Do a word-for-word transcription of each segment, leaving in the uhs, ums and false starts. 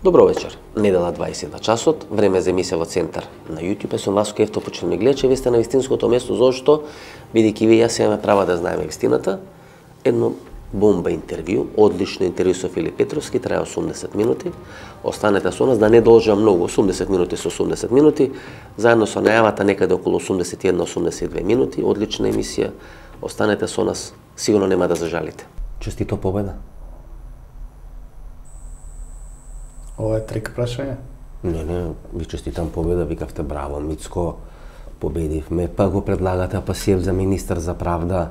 Добро вечер. Недела дваесет на часот, време за емисија во Центар на YouTube. Сум Васко Ефто, почнем ми гледачи, вие сте на вистинското место, зошто, бидејќи вие јас имаме права да знаеме вистината. Едно бомба интервју, одлично интервју со Филип Петровски, трае осумдесет минути. Останете со нас, да не должа многу, осумдесет минути со осумдесет минути, заедно со најавата некаде околу осумдесет и една до осумдесет и две минути, одлична емисија. Останете со нас, сигурно нема да зажалите. Честито победа. Ова е трик прашање? Не, не, ви честитам победа, викавте браво, Мицко, победивме, па го предлагате Апасиев за министар за правда.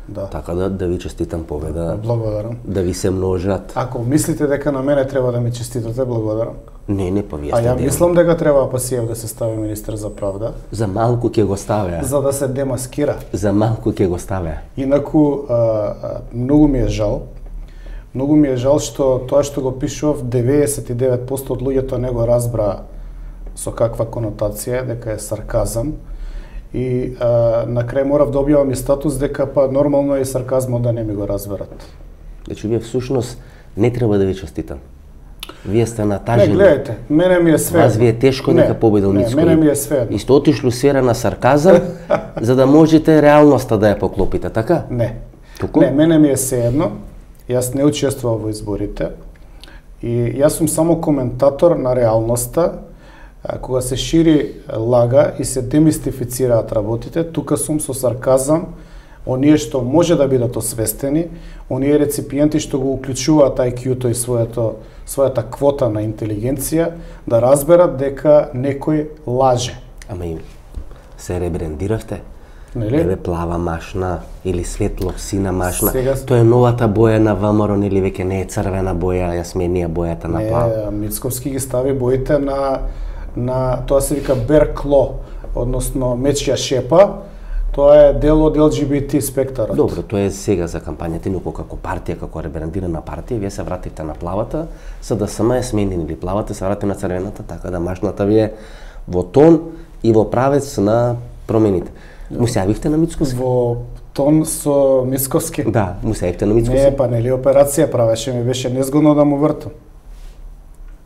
Да. Така да, да ви честитам победа. Благодарам. Да ви се множат. Ако мислите дека на мене треба да ми честитате, благодарам. Не, не, па вие А сте ја дел. мислам дека треба Апасиев да се стави министар за правда. За малку ќе го ставя. За да се демаскира. За малку ќе го ставя. Инаку, а, а, многу ми е жал. Многу ми е жал што тоа што го пишував, деветдесет и девет проценти од луѓето не го разбра со каква конотација, дека е сарказам. И а, на крај морав да објавам и статус дека па нормално е и сарказмот да не ми го разберат. Значи, вие всушност не треба да ви честитам. Вие сте натажени. Не, гледайте, мене ми е све. Вас ви е тешко не, дека победил Мицко. Не, мене ми е све. И сте отишло сфера на сарказам, за да можете реалноста да ја поклопите, така? Не. Туку? Не, мене ми е сеедно. Јас не учествував во изборите. И јас сум само коментатор на реалноста. Кога се шири лага и се демистифицираат работите, тука сум со сарказам, оние што може да бидат освестени, оние реципиенти што го уклучуваат ай кју-то и своето, својата квота на интелигенција, да разберат дека некој лаже. Ама им се ребрендиравте? Нели? Еве плава машна или светло сина машна. Сега... Тоа е новата боја на ВМРО, или веќе не е црвена боја, ја сменија бојата на плава. Не, Мицковски ги стави боите на на тоа се вика беркло, односно мечја шепа. Тоа е дел од ел џи би ти спектарот. Добро, тоа е сега за кампањата, инаку како партија, како ребрандирана партија, вие се вратите на плавата, за да сама е сменили плавата, се врати на црвената, така да машната ви е во тон и во правец на промените. Му се јавивте на Мицковски? Во тон со Мицковски? Да, му се јавивте на Мицковски? Не, па нели операција правеше, ми беше незгодно да му вртам.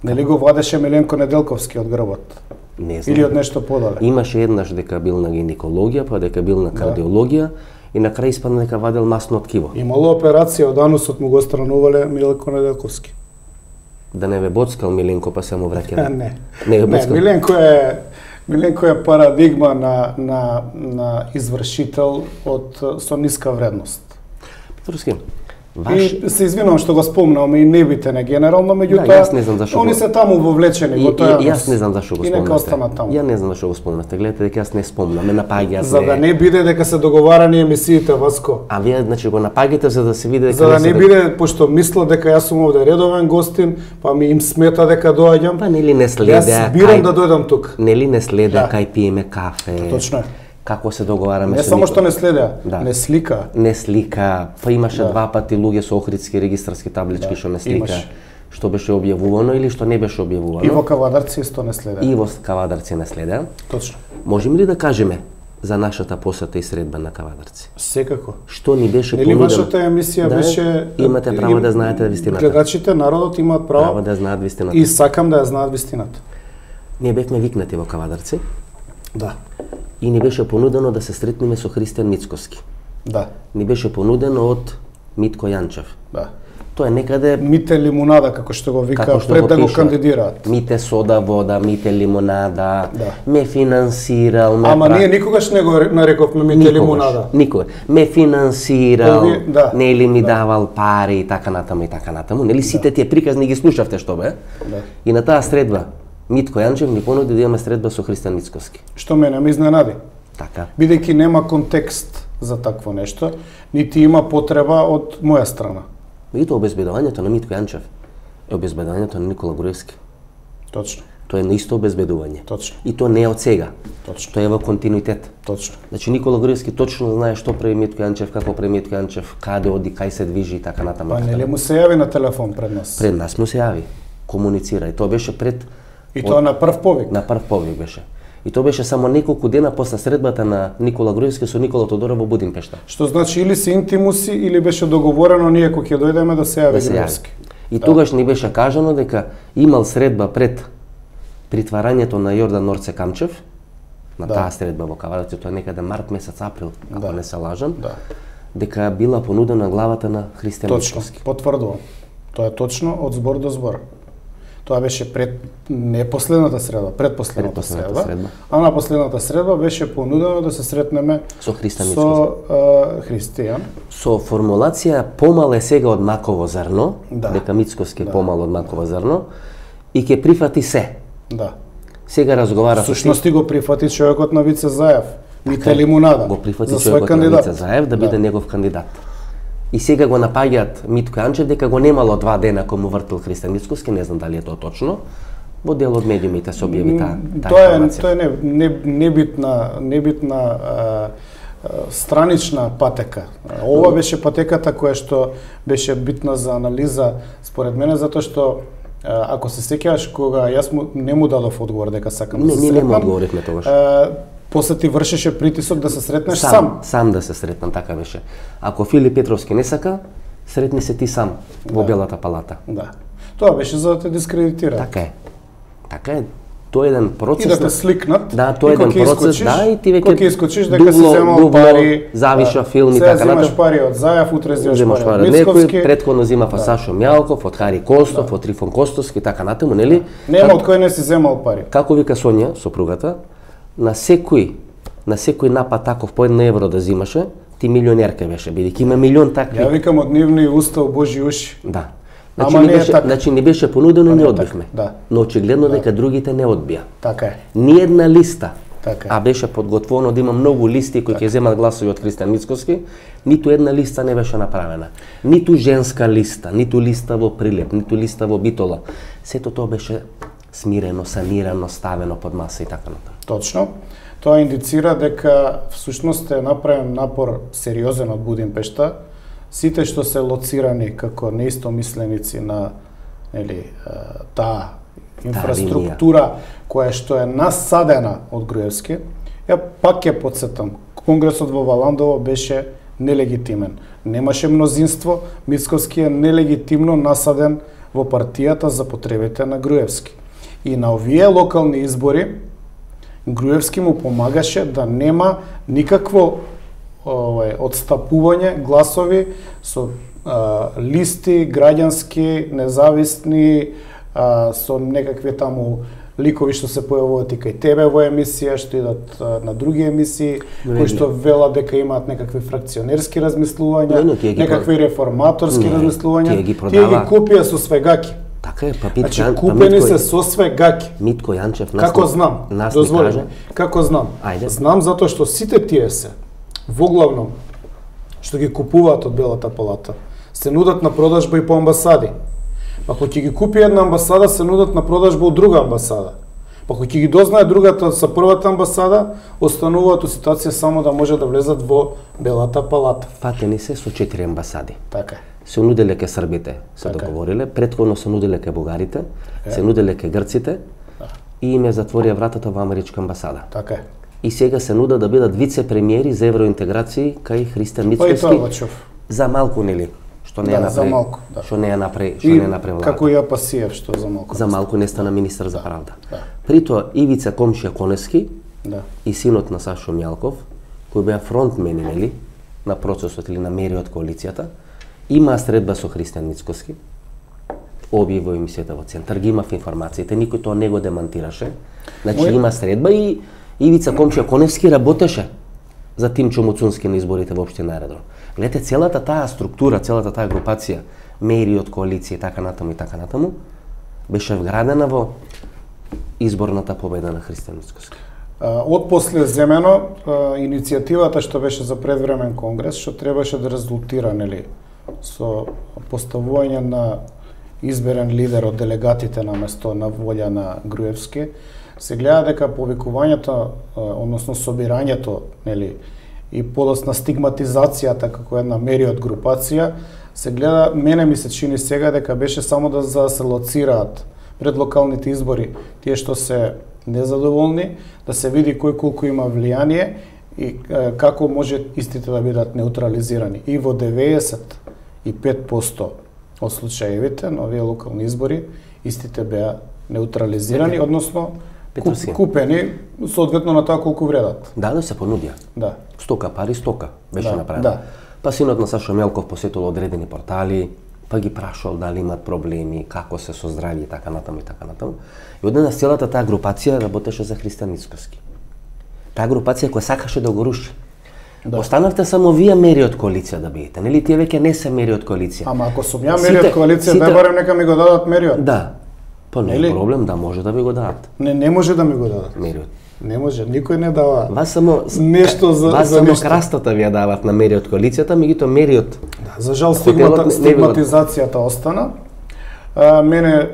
Нели го вадеше Миленко Неделковски од грбот? Не знам. Или од нешто подале? Имаше еднаш дека бил на гинекологија, па дека бил на кардиологија, и на крај испадна дека вадел масно ткиво. Имало операција од анусот, му го странувале Миленко Неделковски. Да не ве боцкал Миленко, па се му враќа. Не. Не, не, Миленко е Миленко е парадигма на на на извршител од со ниска вредност. Петровски, ваш... И се извинувам што го спомнам и не бите не генерално, меѓутоа да, јас не знам зашо они го... се таму вовлечени во тоа. И, јас не знам зашо го спомнате. И нека остана таму. Ја не знам зашо го спомнате. Гледате дека јас не спомнам, ме напаѓаат. За да не биде дека се договарани емисиите, Васко. А вие значи го напаѓате за да се види дека за да не се... биде, пошто мисла дека јас сум овде редовен гостин, па ми им смета дека доаѓам. Па нели не следа. Јас бирам да дојдам тук. Нели не следа да. кај пиеме кафе. Точно е. Како се договараме не со само никој. што не следеа, да. не слика. Не слика, па имаше да. два пати луѓе со охридски регистарски таблички што да. не слика. Имаш. Што беше објавувано или што не беше објавувано. И во Кавадарци исто не следеа. И во Кавадарци не следеа. Точно. Можеме ли да кажеме за нашата посета и средба на Кавадарци? Секако. Што ни беше понудено? Нели вашата емисија да, беше... Имате право да знаете вистината. Гледачите, народот имаат право, право да знаат вистината. И сакам да ја знаат вистината. Ние бевме викнати во Кавадарци. Да. И ни беше понудено да се сретнеме со Христијан Мицковски. Да. Ни беше понудено од Митко Јанчев. Да. Тоа е некаде... Мите лимунада, како што го вика, како што пред го да го пишува. кандидираат. Мите сода, вода, мите лимонада, да. ме финансирал, ме... Ама пра... ние никогаш не го нарековме мите никогаш, лимунада. Никогаш. Ме финансирал, Ови, да. нели ми да. давал пари и така натаму и така натаму. Нели сите да. тие приказни ги слушавте што бе? Да. И на таа средба Митко Јанчев ни понуди да имаме средба со Христијан Мицковски. Што мене ме изненади. Така. Бидејќи нема контекст за такво нешто, нити има потреба од моја страна. Меѓутоа обезбедувањето на Митко Јанчев е обезбедувањето на Никола Груевски. Точно. Тоа е наисто обезбедување. Точно. И тоа не е од сега. Точно. Тоа е во континуитет. Точно. Значи Никола Груевски точно знае што прави Митко Јанчев, како прави Митко Јанчев, каде оди, кај се движи и така натаму. Па нели му се јави на телефон пред нас? Пред нас му се јави. Комуницира и тоа беше пред И тоа на прв повик. На прв повик беше. И тоа беше само неколку дена после средбата на Никола Груевски со Никола Тодоров во Будимпешта. Што значи или се интимуси или беше договорено ние кога ќе дојдеме да се јави да се Груевски. Јави. И тогаш ни беше кажано дека имал средба пред притварањето на Јордан Норце Камчев, на да. таа средба во Каварци, тоа е некаде март месец, април, ако да. не се лажам, да. дека била понудена главата на Христијан Мицкоски. Точно, потврдувам. Тоа е точно од збор до збор. Тоа беше пред не последната средба, предпоследната средба, средба, а на последната средба беше понудено да се сретнеме со Христијан Мицкоски. Со uh, Христијан. Со формулација помал е сега од маково зрно, да. дека Мицкоски е да. помал од маково зрно и ќе прифати се. Да. Сега разговара со Сушности го прифати човекот на Вице Заев. Мите лимунада. Го прифати човекот на Вице Заев да биде да. негов кандидат. И сега го напаѓаат Митко Јанчев дека го немало два дена кога му вртел Христијан Мицкоски, не знам дали е тоа точно. Во дел од медиумите се објави таа та тоа е тоа е не, не, небитна небитна а, а, странична патека. Ова беше патеката која што беше битна за анализа според мене, затоа што ако се сеќаваш кога јас му, не му дадов одговор дека сакам не, да се сретнам. Не, не му одговоривме тогаш. После ти вршеше притисок да се сретнеш сам. Сам, сам да се сретнам, така беше. Ако Филип Петровски не сака, сретни се ти сам во да. Белата палата. Да. Тоа беше за да те дискредитира. Така е. Така е. Тоа е еден процес. И да те сликнат. Да, тоа е еден процес, искочиш, да, и ти веќе кога искочиш дека си земал дубло, пари, завиша да, филм и така натаму. Сега земаш пари од Заев, утре земаш пари од Мицкоски. Некој претходно зема да. Сашо Мјалков, од Хари Костов, да. од Трифон Костовски, така натаму, нели? Нема од кој не си земал пари. Како вика Сонја, сопругата, на секој на секој напад таков по едно евро да зимаше, ти милионерка беше, бидејќи има милион такви. Ја викам од нивни уста у Божи уши. Да. Значи не, беше, значи не беше понудено, не одбивме. Да. Но очигледно да. дека другите не одбија. Така е. Ни една листа, така е. А беше подготвено да има многу листи кои ќе земат гласови од Христијан Мицкоски, ниту една листа не беше направена. Ниту женска листа, ниту листа во Прилеп, ниту листа во Битола. Сето тоа беше смирено, санирано, ставено под маса и така натаму. Точно. Тоа индицира дека всушност е направен напор сериозен од Будимпешта. Сите што се лоцирани како неистомисленици на нели таа инфраструктура која што е насадена од Груевски, ја пак ќе потсетам. Конгресот во Валандово беше нелегитимен. Немаше мнозинство, Мицкоски е нелегитимно насаден во партијата за потребите на Груевски. И на овие локални избори Груевски му помагаше да нема никакво овај одстапување гласови со а, листи граѓански, независни, а, со некакви таму ликови што се појавуваат и кај тебе во емисија, што идат а, на други емисии, кои што велат дека имаат некакви фракционерски размислувања, не, не, некакви реформаторски не, размислувања, тие ги, тие ги купија со свегаки. Така е, па Митко значи, купени се со свегаки. Митко Јанчев нас како знам, нас дозволи, каже... како знам. Ајде. Знам затоа што сите тие се воглавном што ги купуваат од Белата палата се нудат на продажба и по амбасади. Па кога ќе ги купи една амбасада, се нудат на продажба од друга амбасада. Па кога ќе ги дознае другата со првата амбасада, остануваат у ситуација само да може да влезат во Белата палата. Фатени се со четири амбасади. Така е. Се нуделе ке србите, се така договориле, претходно се нуделе ке бугарите, така се нуделе ке грците да. И им ја затворија вратата во америчка амбасада. Така е. И сега се нуда да бидат вице-премиери за евроинтеграција кај Христијан Мицкоски. За малку нели? Што не да, е направи, малку, да. Што не е направи, што не е направи влада. Како ја Пасиев што за малку. За малку не стана министер да, за правда. Да. При тоа Ивица Комшија Конески да. И синот на Сашо Мјалков, кои беа фронтмени нели на процесот или на мери од коалицијата, има средба со Христијан Мицкоски. Објави во емисијата во Центар, ги имав информациите, никој тоа не го демантираше. Значи Мој... има средба и Ивица Комшија Коневски работеше за Тимчо Муцунски на изборите во општина Аеродром. Гледате, целата таа структура, целата таа групација, мери од коалиција и така натаму и така натаму, беше вградена во изборната победа на Христијан Мицкоски. Од после земено иницијативата што беше за предвремен конгрес, што требаше да резултира нели со поставување на изберен лидер од делегатите на место на волја на Груевски, се гледа дека повикувањето, односно собирањето, нели, и подосна стигматизацијата како една мери од групација, се гледа, мене ми се чини сега дека беше само да за да се лоцираат пред локалните избори тие што се незадоволни, да се види кој колку има влијание и е, како може истите да бидат неутрализирани. И во деведесет и пет проценти од случаевите на овие локални избори, истите беа неутрализирани, односно Петровски. купени соодветно на тоа колку вредат. Да, да се понудија. Да. Стока пари, стока беше Да, направено. да. Па синот на Сашо Мелков посетил одредени портали, па ги прашал дали имат проблеми, како се со здравје и така натаму и така натаму. И одеднаш целата таа групација работеше за Христијан Мицкоски. Таа групација која сакаше да го руши. Да. Останавте само вие мери од коалиција да бидете, нели тие веќе не се мери од коалиција. Ама ако сум ја мери од коалиција, сите... да барем нека ми го дадат мериот. Да. Па не е проблем, да може да ви го дадат. Не, не може да ми го дадат. Мериот. Не може, никој не дава. Вас само нешто за вас за само нешто. крастата ви ја дават на мери од коалицијата, меѓутоа мери од Да, за жал стигмата, стигматизацијата остана. А, мене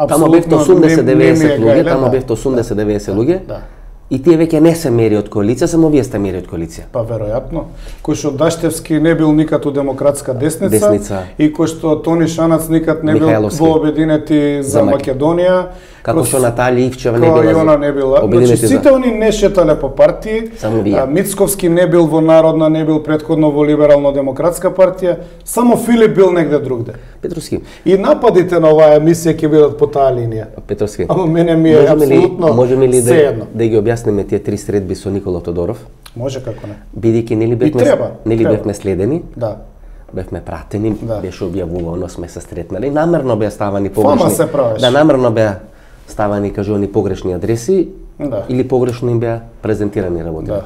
таму бевте апсолутно осумдесет деветдесет луѓе, гајле, таму да. бевте осумдесет деветдесет луѓе. Да. И тие веќе не се мери од коалиција, само вие сте мери од коалиција. Па веројатно. Кој што Даштевски не бил никад у демократска десница, Десница. и кој што Тони Шанац никад не бил Михајловски. во Обединети за, За Мак- Македонија. Како што Наталија Ивчева не Која била и за она не била. Значи Обединети за- сите они не шетале по партии. Само вие. А, Мицковски не бил во Народна, не бил претходно во Либерално-демократска партија, само Филип бил негде другде. Петровски. И нападите на оваа емисија ќе бидат по таа линија. Петровски. Ама мене ми е Можеме ли, апсолутно можеме ли да, сеедно. да ги објасниме тие три средби со Никола Тодоров? Може како не. Бидејќи нели бевме треба, нели треба. бевме следени, Да. бевме пратени, Да. беше објавувано, сме се стретнали, намерно беа ставани Фама погрешни. се правеше. Да, намерно беа ставани кажувани погрешни адреси, Да. или погрешно им беа презентирани работи. Да.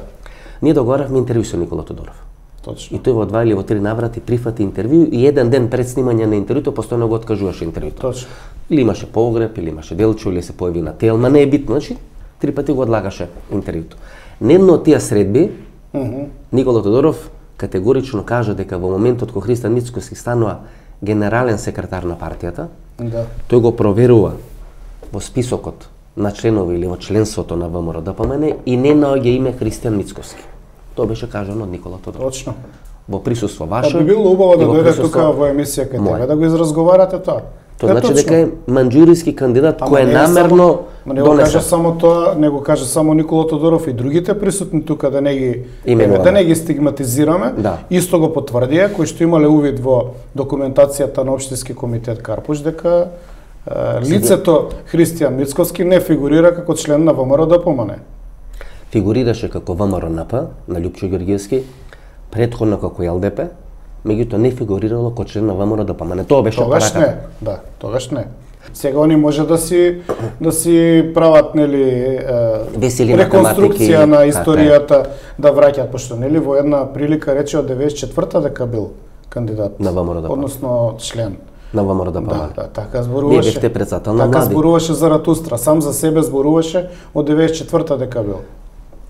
Ние договаравме интервју со Никола Тодоров. Точно. И тој во два или во три наврати прифати интервју и еден ден пред снимање на интервјуто постојано го откажуваше интервјуто. Точно. Или имаше погреб, или имаше делчо, или се појави на тел, ма не е битно, значи три пати го одлагаше интервјуто. На едно од тие средби Мгм. Никола Тодоров категорично кажа дека во моментот кога Христијан Мицкоски станува генерален секретар на партијата, Да. тој го проверува во списокот на членови или во членството на ВМРО Д П М Н и не наоѓа име Христијан Мицкоски. Тоа беше кажано од Никола Тодоров. Точно. Во присуство Па ваше. би било убаво да и во дојде присуство тука во емисија кај моје. тебе да го изразговарате тоа. Тоа Е, значи точно. дека е манџуриски кандидат Ама кој е не намерно само, ма не го каже донесен. само тоа, не го каже само Никола Тодоров и другите присутни тука да не ги Именуваме. да не ги стигматизираме. Да. Исто го потврдија кои што имале увид во документацијата на општински комитет Карпуш дека е, лицето Христијан Мицковски не фигурира како член на ВМРО Д П М Н. Фигурираше како Вэ М Р Н П на Љупчо Ѓорѓиевски, претходно како Л Д П, меѓутоа не фигурирало како член на Вэ М Р Д П М Н. Тоа беше Тогаш пораката. не, да, тогаш не. Сега они може да си да си прават нели е, Весели реконструкција математики, на така е. историјата да враќаат, пошто нели во една прилика рече од деветдесет и четврта дека бил кандидат На Вэ М Р Д П М Н. односно член. На Вэ М Р Д П М Да, Н. да, така Вие зборуваше. бевте председател на Така млади. зборуваше за Ратустра, сам за себе зборуваше од деветдесет и четврта дека бил.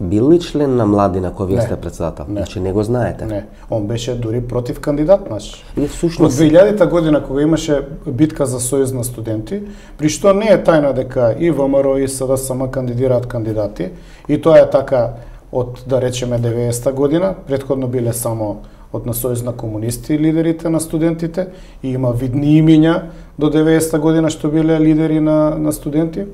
Бил ли член на млади на кој вие Не. сте председател? Не. Значи не го знаете. Не, он беше дури против кандидат наш. И Во всушност две илјадета година кога имаше битка за сојуз на студенти, при што не е тајна дека и Вэ М Р и С Д С М кандидираат кандидати, и тоа е така од, да речеме, деветдесета година, претходно биле само од на Сојуз на комунисти лидерите на студентите, и има видни имиња до деветдесета година што биле лидери на, на студенти.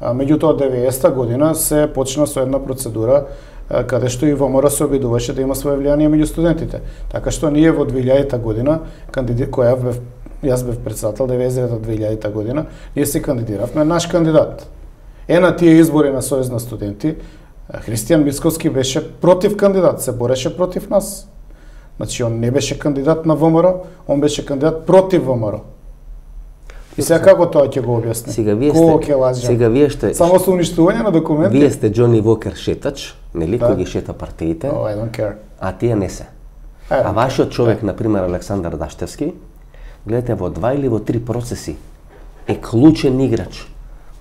А меѓутоа од деветдесета година се почна со една процедура а, каде што и Вэ М Р се обидуваше да има свое влијание меѓу студентите. Така што ние во две илјадета година, кандиди... која бев, јас бев председател деветдесет и девета до две илјадета година, ние се кандидиравме наш кандидат. Е на тие избори на Сојуз на студенти, Христијан Мицковски беше против кандидат, се бореше против нас. Значи он не беше кандидат на Вэ М Р, он беше кандидат против Вэ М Р. И сега како тоа ќе го објасни? сега вие Кого сте ќе лаже? сега вие сте Само со уништување на документи? вие сте Џони Вокер шетач, нели, Да. кој ги шета партиите, Oh, I don't care. а тие не се. I don't А вашиот care. човек, на пример Александар Даштевски, гледате во два или во три процеси е клучен играч,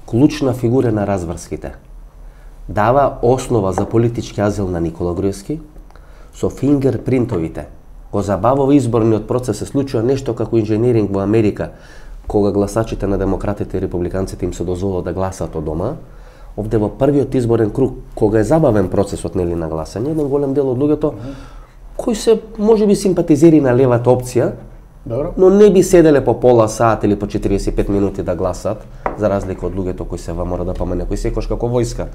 клучна фигура на разврските. Дава основа за политички азил на Никола Груевски, со фингерпринтовите. Го забавува изборниот процес, се случува нешто како инженеринг во Америка, кога гласачите на демократите и републиканците им се дозволува да гласаат од дома. Овде во првиот изборен круг, кога е забавен процесот нели на гласање, еден голем дел од луѓето кои се можеби симпатизери на левата опција, Добро. но не би седеле по пола сат или по четириесет и пет минути да гласат, за разлика од луѓето кои се Вэ М Р да помене, кои секош како војска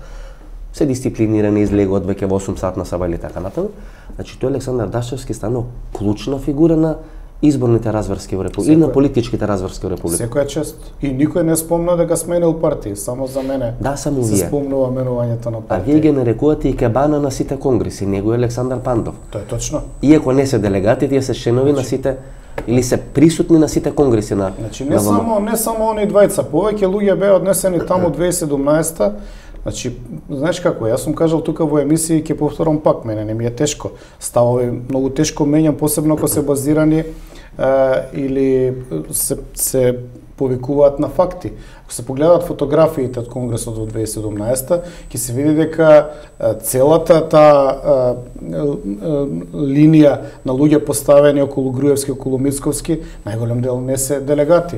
се дисциплинирани, излегуваат веќе во осум сатна саба или така натаму. Значи тој Александар Даштевски станал клучна фигура на изборните разврски во република, или на политичките разврски во република. Секоја чест. И никој не спомна дека сменил партии, само за мене. Да, само се вие. спомнува менувањето на А партии. вие ги нарекувате и кебана на сите конгреси, него е Александар Пандов. Тоа е точно. Иако не се делегати, тие се членови на сите или се присутни на сите конгреси на Значи на не ВМРО. само не само они двајца, повеќе луѓе беа однесени таму две тисаци и седумнаесета. Значи, знаеш како, јас сум кажал тука во емисија и ќе повторам пак, мене не ми е тешко. Ставови многу тешко менјам, посебно ако се базирани е, или се се повикуваат на факти. Ако се погледат фотографиите од Конгресот во две тисаци и седумнаесета, ќе се види дека целата таа линија на луѓе поставени околу Груевски, околу Мицковски, најголем дел не се делегати.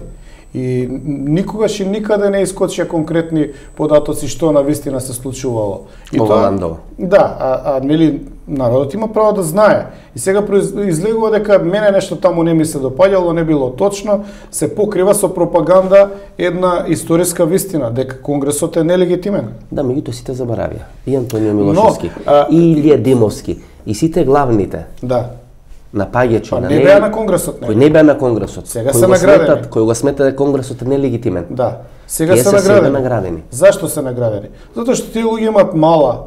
И никогаш и никаде не искочија конкретни податоци што на вистина се случувало. И Ова тоа, Ландова. да, а, а нели народот има право да знае. И сега излегува дека мене нешто таму не ми се допаѓало, не било точно, се покрива со пропаганда една историска вистина дека Конгресот е нелегитимен. Да, меѓутоа сите заборавија. И Антонио Милошевски, Но, а, и Илија Димовски, и сите главните Да. напаѓачи Па на не неј, беа на Конгресот, не. кои не беа на Конгресот, Сега кои се го наградени. сметат, кои го сметат дека Конгресот е нелегитимен. Да. Сега Тие се се сега наградени. наградени. Зашто се наградени? Затоа што тие луѓе имаат мала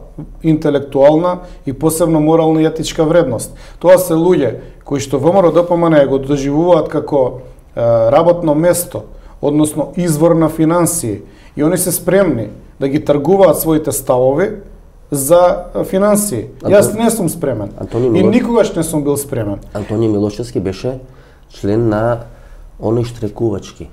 интелектуална и посебно морална и етичка вредност. Тоа се луѓе кои што ВМРО Д П М Н го доживуваат како е, работно место, односно извор на финансии, и они се спремни да ги тргуваат своите ставови за финансии. Антон... Јас не сум спремен. Антони И Милош... никогаш не сум бил спремен. Антонио Милошевски беше член на оној штрекувачки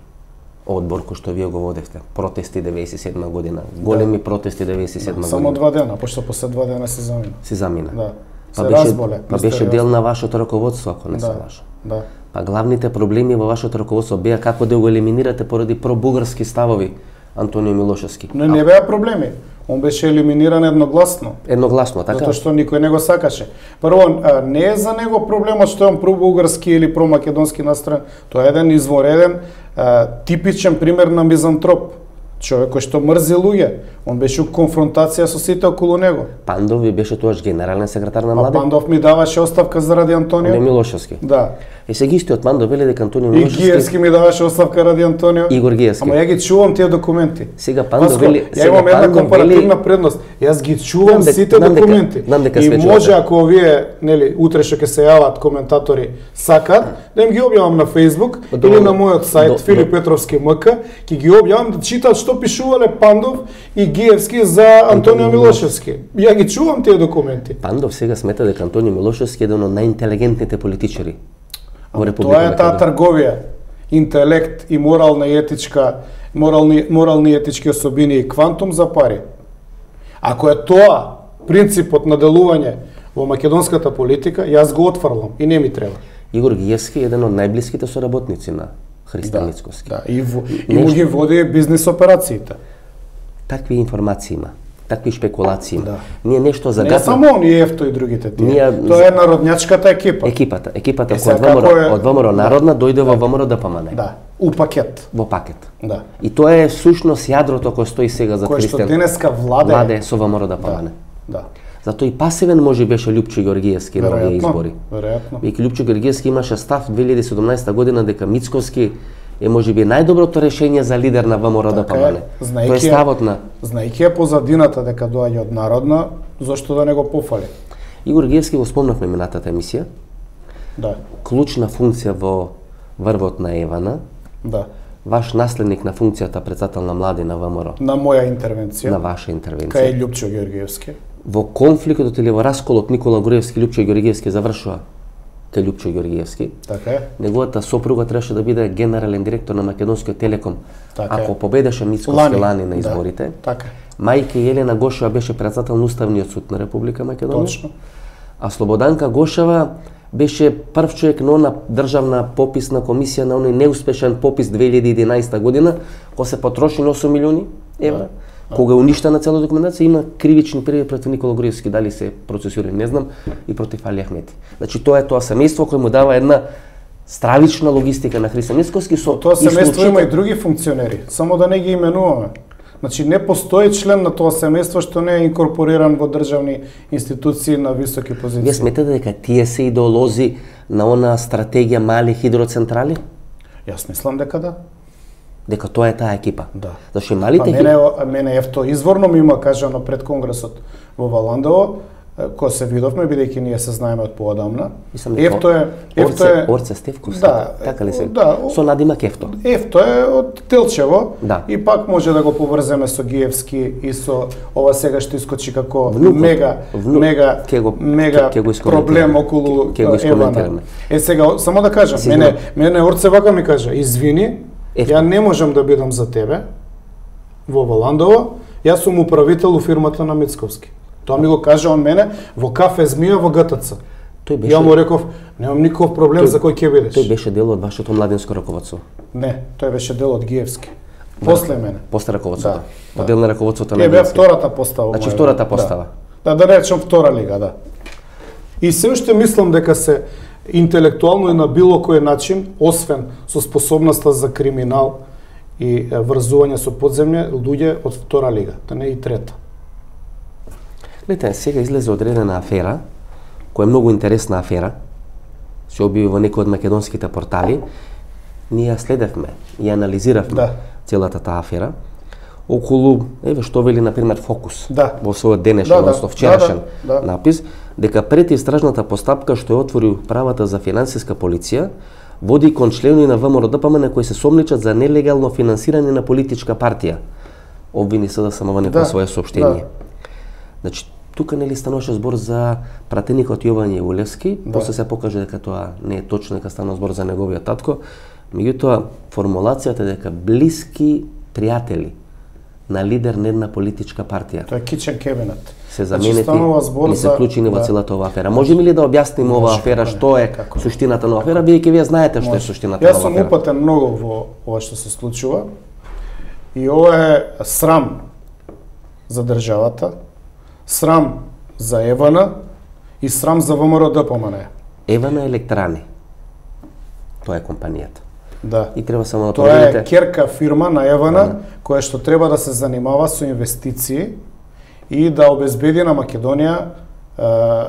одбор кој што вие го водевте. Протести деветдесет и седма година. Големи да. протести деветдесет и седма Да, година. само два дена, пошто после два дена се замина. Си замина. Да. Па Се беше, разболе. па беше мистериозно. дел на вашето раководство, ако не Да. се лажам. Да. Па главните проблеми во вашето раководство беа како да го елиминирате поради пробугарски ставови Антонио Милошевски. Но не беа проблеми. Он беше елиминиран едногласно. Едногласно, така? Затоа што никој не го сакаше. Прво, а, не е за него проблемот што е он пробугарски или промакедонски настроен. Тоа е еден извореден, а, типичен пример на мизантроп. Човек кој што мрзи луѓе. Он беше у конфронтација со сите околу него. Пандов ви беше тоаш генерален секретар на А Младе? Пандов ми даваше оставка заради Антонио. Не Милошевски. Да. И сега истиот Пандов вели дека Антонио И Милошевски... Гиевски ми даваше оставка ради Антонио. Игор Гиевски. Ама ја ги чувам тие документи. Сега Пандов Паско, вели... ја имам една компаративна предност. Јас ги чувам Знам дека- сите знам дека- документи. знам дека И свечувате. може ако овие, нели, утре што ќе се јават коментатори сакат, да им ги објавам на Facebook До- или на мојот сајт до- Филип Петровски МК, ќе ги објавам да читаат што пишувале Пандов и Гиевски за Антонио Милошевски. Ја ги чувам тие документи. Пандов сега смета дека Антонио Милошевски е еден од најинтелигентните политичари во Република Тоа е таа Македонија. трговија, интелект и морална и етичка, морални, морални и етички особини и квантум за пари. Ако е тоа принципот на делување во македонската политика, јас го отфрлам и не ми треба. Игор Гиевски е еден од најблиските соработници на Христијан Мицковски. Да, и, во, и му ги води бизнис операциите. Такви информации има, такви шпекулации има. Да. Ние нешто Не загатна... само он, и Ефто и другите тие. Ние- Тоа е народњачката екипа. Екипата, екипата Е, која сега од ВМРО, како е- од ВМРО Народна дојде во ВМРО Д П М Н. Да, у пакет. Во пакет. Да. И тоа е сушност јадрото кој стои сега за Кој што Христијан. денеска владе. Владе со ВМРО Д П М Н. Да. Затоа и пасивен може беше Лјупчо Георгиевски на овие Веројатно. избори. Веројатно. Веќе Лјупчо Георгиевски имаше став две илјади и седумнаесета година дека Мицковски е можеби најдоброто решение за лидер на ВМРО Д П Така М е. Н. Знаејќи Тоа е ја- ставот на Знаејќи ја позадината дека доаѓа од Народна, зошто да не го пофали? Игор Гиевски, го спомнавме минатата емисија. Да, Клучна функција во врвот на Евана, да. ваш наследник на функцијата председател на млади на ВМРО, На моја интервенција, на ваша кај интервенција. Лјупчо Георгиевски. Во конфликтот или во расколот Никола Груевски Лјупчо Георгиевски завршува кај Лјупчо Георгиевски. Така е. Неговата сопруга требаше да биде генерален директор на Македонскиот телеком. Така е. Ако победеше Мицковски Лани, лани на да. изборите, Така. мајка Јелена Гошева беше председател на Уставниот суд на Република Македонија. Точно. А Слободанка Гошева беше прв човек на она државна пописна комисија на оној неуспешен попис две илјади и единаесета година, кога се потрошени осум милиони евра. Кога е уништена цела документација, има кривични пријави против Никола Груевски, дали се процесирани, не знам, и против Али Ахмети. Значи тоа е тоа семејство кој му дава една стравична логистика на Христијан Мицковски со Тоа семејство исклучител- има и други функционери, само да не ги именуваме. Значи не постои член на тоа семејство што не е инкорпориран во државни институции на високи позиции. Вие сметате дека тие се идеолози на она стратегија мали хидроцентрали? Јас мислам дека да. Дека тоа е таа екипа. Да. Зашто малите па мене, мене ефто изворно ми има кажано пред конгресот во Валандово, кој се видовме, бидејќи ние се знаеме од поодамна. Ефто е ефто е Орце Стевков, да, така ли се? Да, со надимак Ефто. Ефто е од Телчево, да. И пак може да го поврземе со Гиевски и со ова сега што искочи како внукот, мега внук, мега ке го, мега ке, ке го проблем околу ке, ке Евана. Е сега само да кажам, Сигурно. мене мене Орце вака ми кажа, извини, Ефто. ја не можам да бидам за тебе во Валандово, јас сум управител у фирмата на Мицковски. Тоа ми го кажа он мене во кафе Змија во ГТЦ. Тој беше... Ја му реков, немам никаков проблем тој, за кој ќе бидеш. Тој беше дел од вашето младинско раководство. Не, тој беше дел од Гиевски. После мене. После раководството. Да, Од дел на раководството на Гиевски. Е бе втората постава. Значи втората постава. Да, да, да речем втора лига, да. И се уште мислам дека се интелектуално и на било кој начин, освен со способноста за криминал и врзување со подземје, луѓе од втора лига, да не и трета. Гледате, сега излезе одредена афера, која е многу интересна афера, се објави во некој од македонските портали. Ние ја следевме и анализиравме да. целата таа афера околу, еве што вели например Фокус да. во својот денешен, да, односно вчерашен да, да, да. напис, дека пред истражната постапка што ја отвори правата за финансиска полиција води кон членови на ВМРО-ДПМН кои се сомничат за нелегално финансирање на политичка партија. Обвини се да самоване да, во свое соопштение. Да. Значи, тука нели стануваше збор за пратеникот Јован Јевулевски, да. После се покаже дека тоа не е точно, дека станува збор за неговиот татко. Меѓутоа, формулацијата дека блиски пријатели на лидер на една политичка партија. Тоа е kitchen cabinet. Се заменети и се вклучени во целата оваа афера. Можеме ли да објасниме оваа афера, што е како? Суштината на афера, бидејќи вие знаете што е суштината на афера? Јас сум упатен многу во ова што се случува. И ова е срам за државата, срам за Евана и срам за ВМРО-ДПМН. Евана Електрани. Тоа е компанијата. Да. И треба само да тоа проверите. Е керка фирма на Евана, да. Која што треба да се занимава со инвестиции и да обезбеди на Македонија е,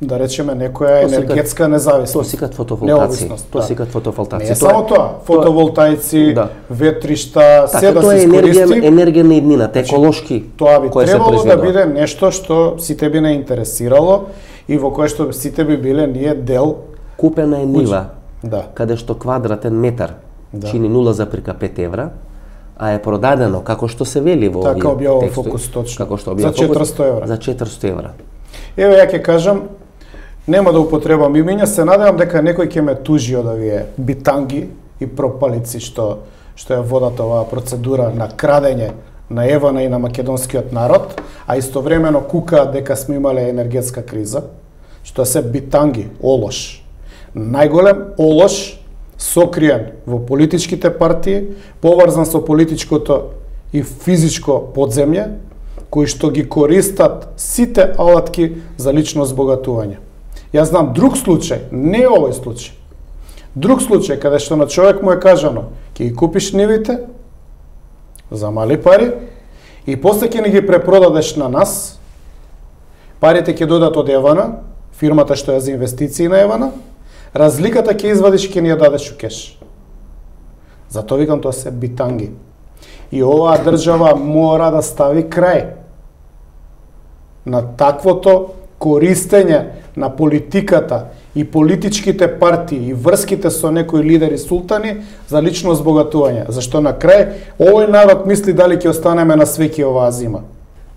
да речеме некоја енергетска независност. Тоа сикат фотоволтаици. Тоа да. сикат фотоволтаици. Не само тоа, фотоволтаици, да. Ветришта, се да тоа се искористи. Тоа е енергија на иднината, еколошки. Тоа би требало да биде нешто што сите би не интересирало и во кое што сите би биле ние дел. Купена е нива. Да. Каде што квадратен метар да. Чини нула зарез пет евра, а е продадено како што се вели во така овие објавува текстови. Фокус точно. Како што за четиристо евра. За четиристо евра. Еве ја ќе кажам, нема да употребам имиња, се надевам дека некој ќе ме тужи од овие битанги и пропалици што што ја водат оваа процедура на крадење на Евана и на македонскиот народ, а истовремено кукаат дека сме имале енергетска криза, што се битанги, олош. Најголем олош сокриен во политичките партии, поврзан со политичкото и физичко подземје, кои што ги користат сите алатки за лично збогатување. Јас знам друг случај, не овој случај. Друг случај каде што на човек му е кажано, ќе ги купиш нивите за мали пари и после ќе ни ги препродадеш на нас. Парите ќе додат од Евана, фирмата што е за инвестиции на Евана. Разликата ќе извадиш, ќе ни ја дадеш у кеш. Затоа викам, тоа се битанги. И оваа држава мора да стави крај на таквото користење на политиката и политичките партии и врските со некои лидери султани за лично збогатување. Зашто на крај овој народ мисли дали ќе останеме на свеќи оваа зима.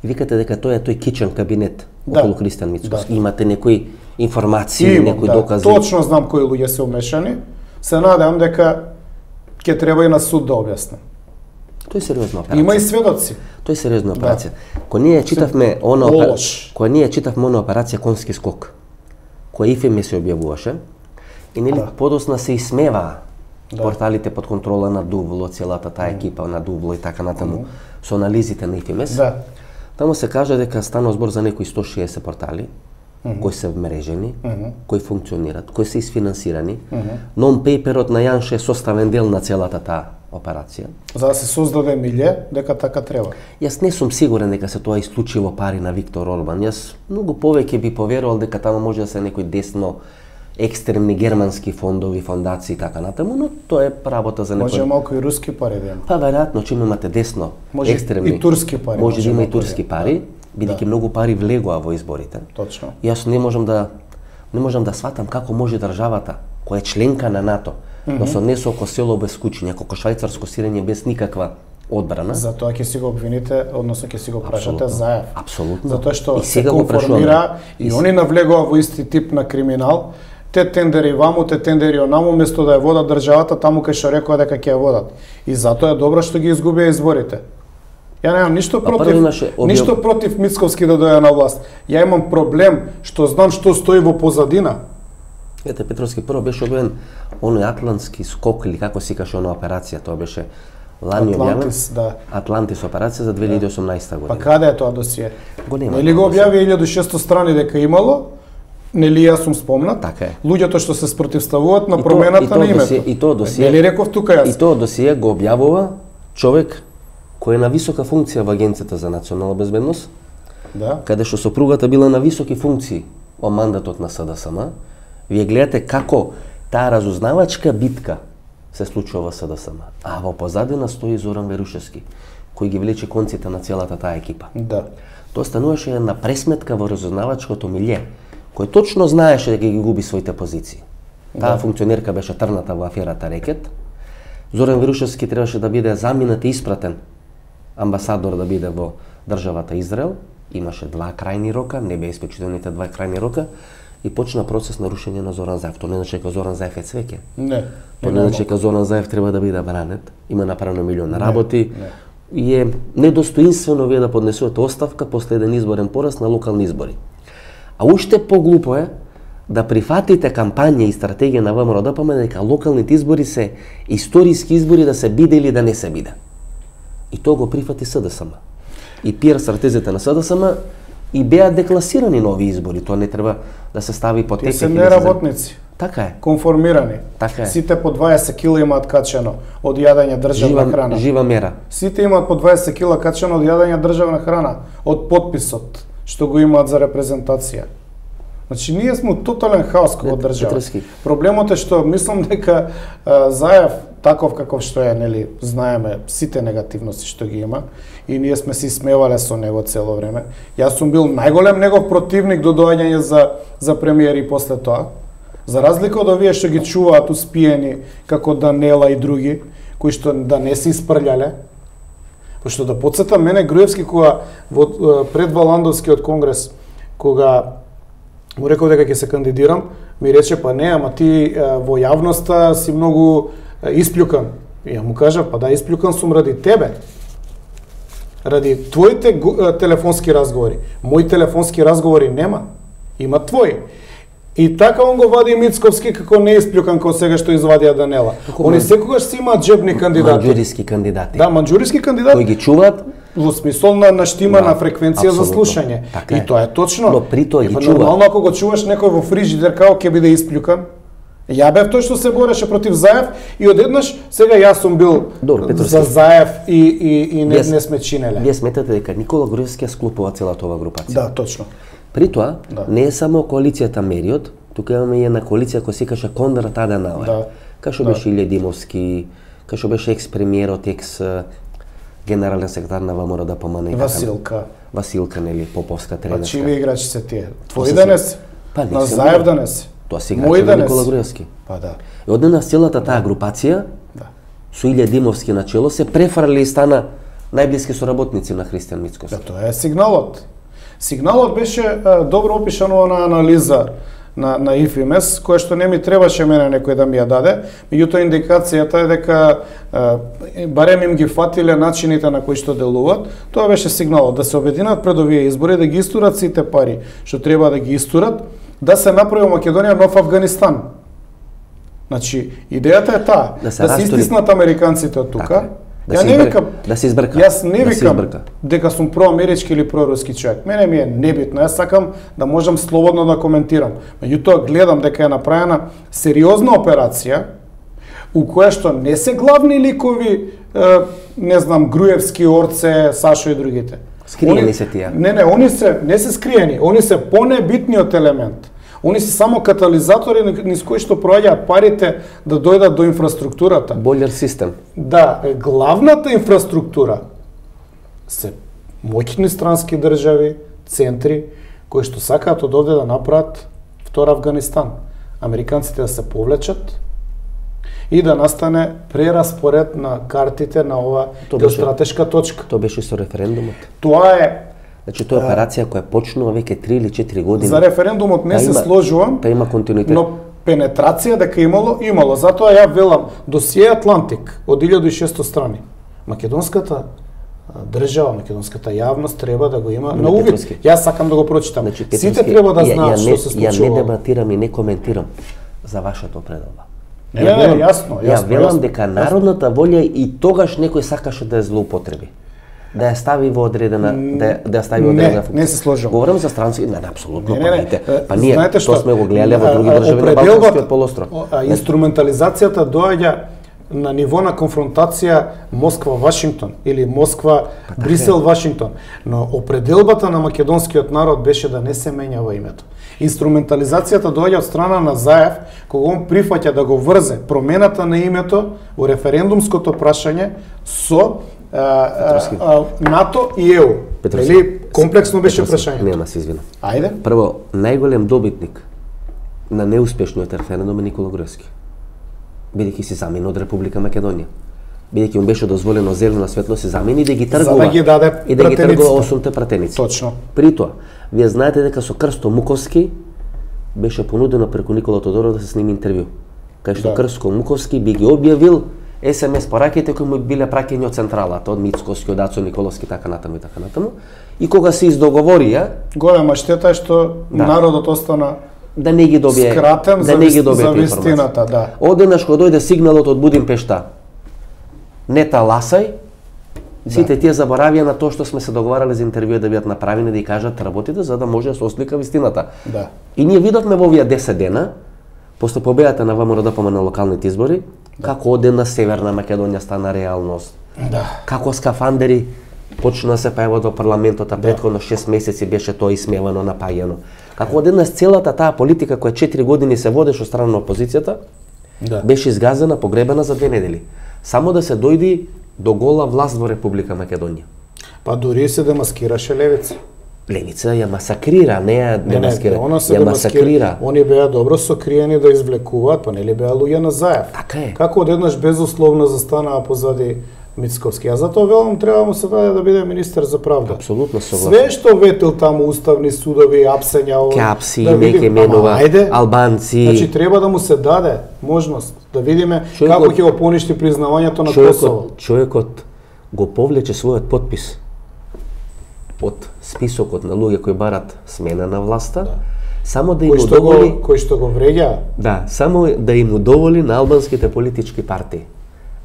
И викате дека тоа е тој кичен кабинет да. Околу Христијан Мицковски. Да. Имате некои информации, Имам, некои да. докази. Точно знам кои луѓе се умешани. Се надевам дека ќе треба и на суд да објаснам. Тоа е сериозна операција. Има и сведоци. Тоа е сериозна операција. Да. Кога ние читавме она операција, кога ние читавме она операција Конски скок, која ИФМ се објавуваше, и нели да. Подосна се исмеваа да. Порталите под контрола на Дувло, целата таа екипа на Дувло и така натаму, mm. со анализите на ИФМС. Да. Таму се кажа дека станува збор за некои сто шеесет портали, mm-hmm. кои се вмрежени, mm-hmm. кои функционираат, кои се исфинансирани. Mm-hmm. Non-пейперот на Јанше е составен дел на целата таа операција. За да се создаде милје, дека така треба. Јас не сум сигурен дека се тоа исклучиво пари на Виктор Орбан. Јас многу повеќе би поверувал дека тamo може да се некои десно екстремни германски фондови, фондации и така натаму, но тоа е работа за некој. Може малку и руски пари да има. Па веројатно че имате десно може екстремни. И турски пари. Може да има и турски пари, бидејќи да. многу пари влегоа во изборите. Точно. Јас не можам да не можам да сватам како може државата која е членка на НАТО, mm -hmm. да се однесе око село без куќи, некако швајцарско сирење без никаква одбрана. Затоа ќе си го обвините, односно ќе си го прашате Заев. Апсолутно. Затоа што и се конформира и, и они навлегува во исти тип на криминал. Те тендери ваму, те тендери онаму, место да ја водат државата таму кај што рекоа дека ќе ја водат. И затоа е добро што ги изгубија изборите. Ја немам ништо против, имаше, објав... ништо против Мицковски да дојде на власт. Ја имам проблем што знам што стои во позадина. Ете, Петровски, прво беше објавен оној атлантски скок или како се каже она операција, тоа беше лани Атлантис, објавен. да. Атлантис операција за две илјади и осумнаесета година. Па каде е тоа досие? Го нема. Нели го објави илјада и шестстотини страни дека имало? Нели јас сум спомнат? Така е. Луѓето што се спротивставуваат на промената на името. Досие, и тоа досие. Нели реков тука јас? И тоа досие го објавува човек кој е на висока функција во Агенцијата за национална безбедност. Да. Каде што сопругата била на високи функции во мандатот на СДСМ. Вие гледате како таа разузнавачка битка се случува во СДСМ. А во позадина стои Зоран Верушевски, кој ги влече конците на целата таа екипа. Да. Тоа стануваше една пресметка во разузнавачкото милје, кој точно знаеше дека ги губи своите позиции. Таа да. функционерка беше трната во аферата Рекет. Зоран Верушевски требаше да биде заминат и испратен амбасадор да биде во државата Израел. Имаше два крајни рока, не беа испечителните два крајни рока и почна процес на рушење на Зоран Заев. Тоа не значи дека Зоран Заев е цвеќе. Не. Тоа не значи дека Зоран Заев треба да биде бранет. Има направено милиони работи. Не. И е недостоинствено вие да поднесувате оставка после еден изборен пораз на локални избори. А уште поглупо е да прифатите кампања и стратегија на ВМРО-ДПМ дека локалните избори се историски избори да се биде или да не се биде. И тоа го прифати СДСМ. И пиар стратезијата на СДСМ и беа декласирани нови избори. Тоа не треба да се стави под тепих. Тие се неработници. Така е. Конформирани. Така е. Сите по дваесет кила имаат качено од јадење државна жива, храна. Жива мера. Сите имаат по дваесет кила качено од јадење државна храна, од подписот што го имаат за репрезентација. Значи ние сме тотален хаос како држава. Петровски. Проблемот е што мислам дека а, Заев таков каков што е, нели, знаеме сите негативности што ги има и ние сме се смевале со него цело време. Јас сум бил најголем негов противник до доаѓање за за премиер и после тоа. За разлика од овие што ги чуваат успиени како Данела и други, кои што да не се испрлјале. Пошто да потсетам мене Груевски кога во пред Валандовскиот конгрес кога му реков дека ќе се кандидирам, ми рече па не, ама ти во јавноста си многу испљукан. И ја му кажа, па да, испљукан сум ради тебе. Ради твоите телефонски разговори. Мои телефонски разговори нема. Има твои. И така он го вади Мицковски како не испљукан како сега што извадија Данела. Они секогаш си имаат джебни кандидати. Манџуриски кандидати. Да, манџуриски кандидати. Кои ги чуваат во смисол на, на штима, да, на фреквенција за слушање. Така и тоа е точно. Но при тоа ги чуваат. Нормално ако го чуваш некој во фрижидер како ќе биде испљукан. Ја бев тој што се бореше против Заев и одеднаш сега јас сум бил Добро, за Заев и и и не, не сме чинеле. Вие сметате дека Никола Груевски ја склопува целата оваа групација. Да, точно. При тоа, да, не е само коалицијата Мериот, тука имаме и една коалиција која се каже Конрад Аденауер. Да. Кај што да. беше Илија Димовски, кај што беше екс-премиерот, екс-генерален секретар на ВМРО-ДПМ. Василка. Василка, нели, Поповска тренерска. А чиви играчи се тие? Твои денес? Па не на Заев денес? Тоа се играчи на Никола Груевски. Па да. И однена целата таа групација, да, со Илија Димовски на чело, се префрли и стана најблиски соработници на Христијан Мицковски. Да, тоа е сигналот. Сигналот беше а, добро опишано на анализа на на ИФИМЕС, која што не ми требаше мене некој да ми ја даде, меѓутоа индикацијата е дека а, барем им ги фатиле начините на кои што делуваат. Тоа беше сигналот да се обединат пред овие избори, да ги истурат сите пари што треба да ги истурат, да се направи Македонија нов Афганистан. Значи, идејата е таа, да се, да се истиснат американците од тука. Така, да ја не викам, да се избрка. Јас не да викам дека сум проамерички или проруски човек. Мене ми е небитно. Јас сакам да можам слободно да коментирам. Меѓутоа гледам дека е направена сериозна операција, у која што не се главни ликови, е, не знам, Груевски, Орце, Сашо и другите. Скриени се тие. Не, не, они се не се скриени, они се понебитниот елемент. Они се само катализатори низ кои што проаѓаат парите да дојдат до инфраструктурата. Бойлер систем. Да, главната инфраструктура се моќни странски држави, центри, кои што сакаат од овде да направат втор Авганистан. Американците да се повлечат и да настане прераспоред на картите на ова геостратешка точка. Тоа беше со референдумот. Тоа е Значи тоа е операција која почнува веќе три или четири години. За референдумот не та се има, сложувам. Та има континуитет. Но пенетрација дека имало, имало. Затоа ја велам, досие Атлантик од илјаду и шесто страни. Македонската држава, македонската јавност треба да го има на увид. Јас сакам да го прочитам. Значи, сите треба да знаат што се случува. Ја не дебатирам и не коментирам за вашата определба. Не, не, не, јасно, јасно. Ја велам јасно, дека јасно. народната волја и тогаш некој сакаше да ја злоупотреби. Да ја стави во одредена, да ја, да ја стави во одредена функција. Не, не се сложам. Говорам за странски, не, не апсолутно, не, не, не. па, па ние Знаете тоа сме го гледале во други држави на Балканскиот полуостров. Инструментализацијата доаѓа на ниво на конфронтација Москва-Вашингтон или Москва-Брисел-Вашингтон. Но определбата на македонскиот народ беше да не се менјава името. Инструментализацијата доаѓа од страна на Заев, кога он прифаќа да го врзе промената на името во референдумското прашање со а, а, а, НАТО и ЕУ. Или комплексно беше прашањето. Нема се извинам. Ајде. Прво, најголем добитник на неуспешниот референдум е Никола Груевски. Бидејќи се замени од Република Македонија. Бидејќи му беше дозволено зелена светло се замени да ги тргува. За да ги даде и да ги тргува осумте пратеници. Точно. При тоа, вие знаете дека со Крсто Муковски беше понудено преку Никола Тодоров да се сними интервју. Кај што да. Крсто Муковски би ги објавил ес ем ес пораките кои му биле праќани од централата, од Мицкоски, од Ацо Николовски, така натаму и така натаму. И кога се издоговорија, голема штета е што да. Народот остана да не ги добие скратен да не ги добие за вистината, да. Одеднаш кога дојде сигналот од Будимпешта, не таласај, сите да. Тие заборавија на тоа што сме се договарале за интервју да бидат направени, да ја кажат работите за да може да се ослика вистината. Да. И ние видовме во овие десет дена, после победата на ВМРО-ДПМ на локалните избори, да. Како одедна Северна Македонија стана реалност. Да. Како скафандери почна да се појават во парламентот, а претходно шест месеци беше тоа исмевано, напаѓано. Како одеднаш целата таа политика која четири години се водеше од страна на опозицијата, да. Беше изгазена, погребена за две недели. Само да се дојди до гола власт во Република Македонија. Па дури се демаскираше левица. Левица ја масакрира, не ја демаскира, не, не, ја масакрира. Они беа добро сокриени да извлекуваат, па нели беа луѓе на Заев. Така е. Како одеднаш безусловно застанаа позади Мицковски. А затоа велам треба му се даде да биде министер за правда. Апсолутно согласен. Све што ветил таму уставни судови, апсења, Капси, да неке менува, албанци. Значи треба да му се даде можност да видиме човекот, како ќе го поништи признавањето на човекот, Косово. Човекот го повлече својот подпис од списокот на луѓе кои барат смена на власта, да. Само да им кој удоволи го, кој што го вреѓа. Да, само да им удоволи на албанските политички партии.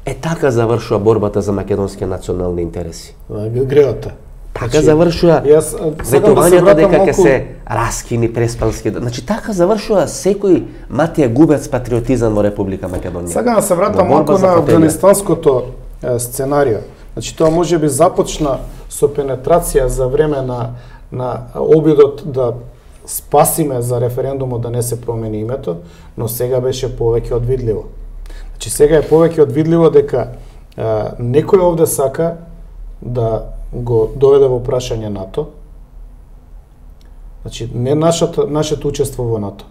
Е така завршува борбата за македонски национални интереси. Греота. Така значи, завршува ветувањето да дека ќе се раскини преспански. Значи така завршува секој Матија Губец патриотизам во Република Македонија. Сега да се вратам малку на афганистанското е, сценарио. Значи тоа можеби започна со пенетрација за време на на обидот да спасиме за референдумот да не се промени името, но сега беше повеќе од видливо. Значи сега е повеќе од видливо дека а, некој овде сака да го доведе во прашање НАТО. Значи не нашата нашето учество во НАТО.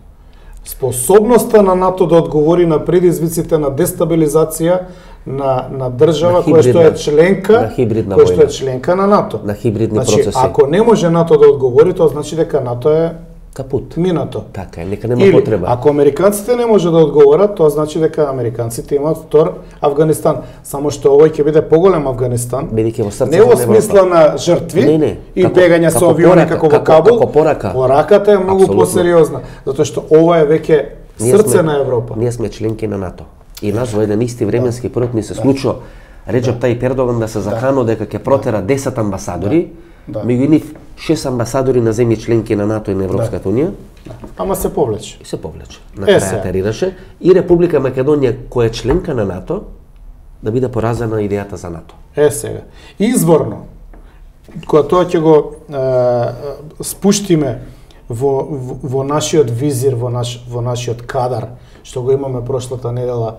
Способноста на НАТО да одговори на предизвиците на дестабилизација на на држава која што е членка, која што е членка на НАТО. На хибридни значи, процеси. Ако не може НАТО да одговори, тоа значи дека НАТО е капут. Минато. Така е, нека нема Или, потреба. Ако американците не може да одговорат, тоа значи дека американците имаат втор Авганистан. Само што овој ќе биде поголем Авганистан. Бидејќи во срцето не во смисла на жртви не, не. и како, бегање со авиони како во Кабул. Како порака. Пораката е многу посериозна, затоа што ова е веќе срце сме, на Европа. Ние сме членки на НАТО. И нас во еден исти временски период ни се случува Реджеп Тајип Ердоган да се закано дека ќе протера десет амбасадори, Да. меѓу нив шест амбасадори на земји членки на НАТО и на Европската унија. Да. Ама се повлече. И се повлече. На крај терираше и Република Македонија која е членка на НАТО да биде поразена идејата за НАТО. Е сега. Изворно, кога тоа ќе го е, спуштиме во, во, во нашиот визир, во, наш, во нашиот кадар, што го имаме прошлата недела,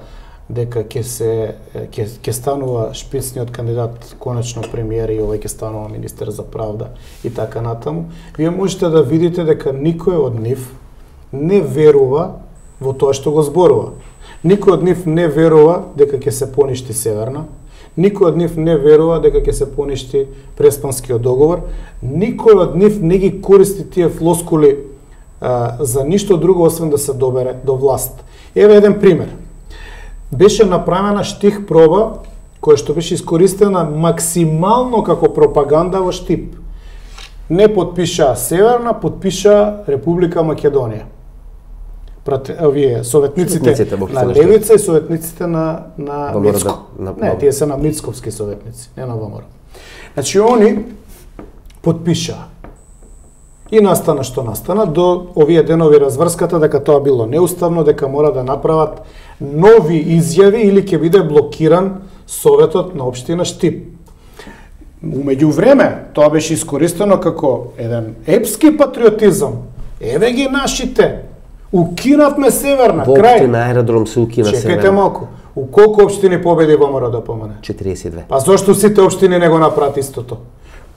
дека ќе се ќе ќе станува шпицниот кандидат конечно премиер и овој ќе станува министер за правда и така натаму, вие можете да видите дека никој од нив не верува во тоа што го зборува. Никој од нив не верува дека ќе се поништи Северна, никој од нив не верува дека ќе се поништи Преспанскиот договор, никој од нив не ги користи тие флоскули а, за ништо друго освен да се добере до власт. Еве еден пример. Беше направена штих проба која што беше искористена максимално како пропаганда во Штип. Не подпиша Северна, подпиша Република Македонија. Овие советниците, советниците на Левица и советниците на на Мицко. Да, на, не, тие се на Мицковски советници, не на ВМРО. Значи они подпиша. И настана што настана до овие денови разврската дека тоа било неуставно, дека мора да направат нови изјави или ќе биде блокиран Советот на општина Штип. Умеѓу време тоа беше искористено како еден епски патриотизам. Еве ги нашите. Укинавме Северна, во крај. Општина Аеродром се укина Северна. Чекајте малку. У колку општини победи ВМРО да помане? четириесет и две. Па зошто сите општини не го направат истото?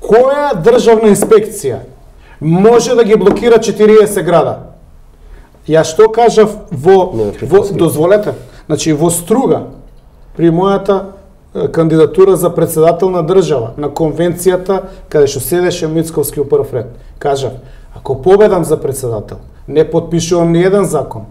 Која државна инспекција може да ги блокира четириесет града? Ја што кажав во, во дозволете, значи во Струга при мојата кандидатура за председател на држава на конвенцијата каде што седеше Мицковски у прв ред, кажав, ако победам за председател, не подпишувам ни еден закон,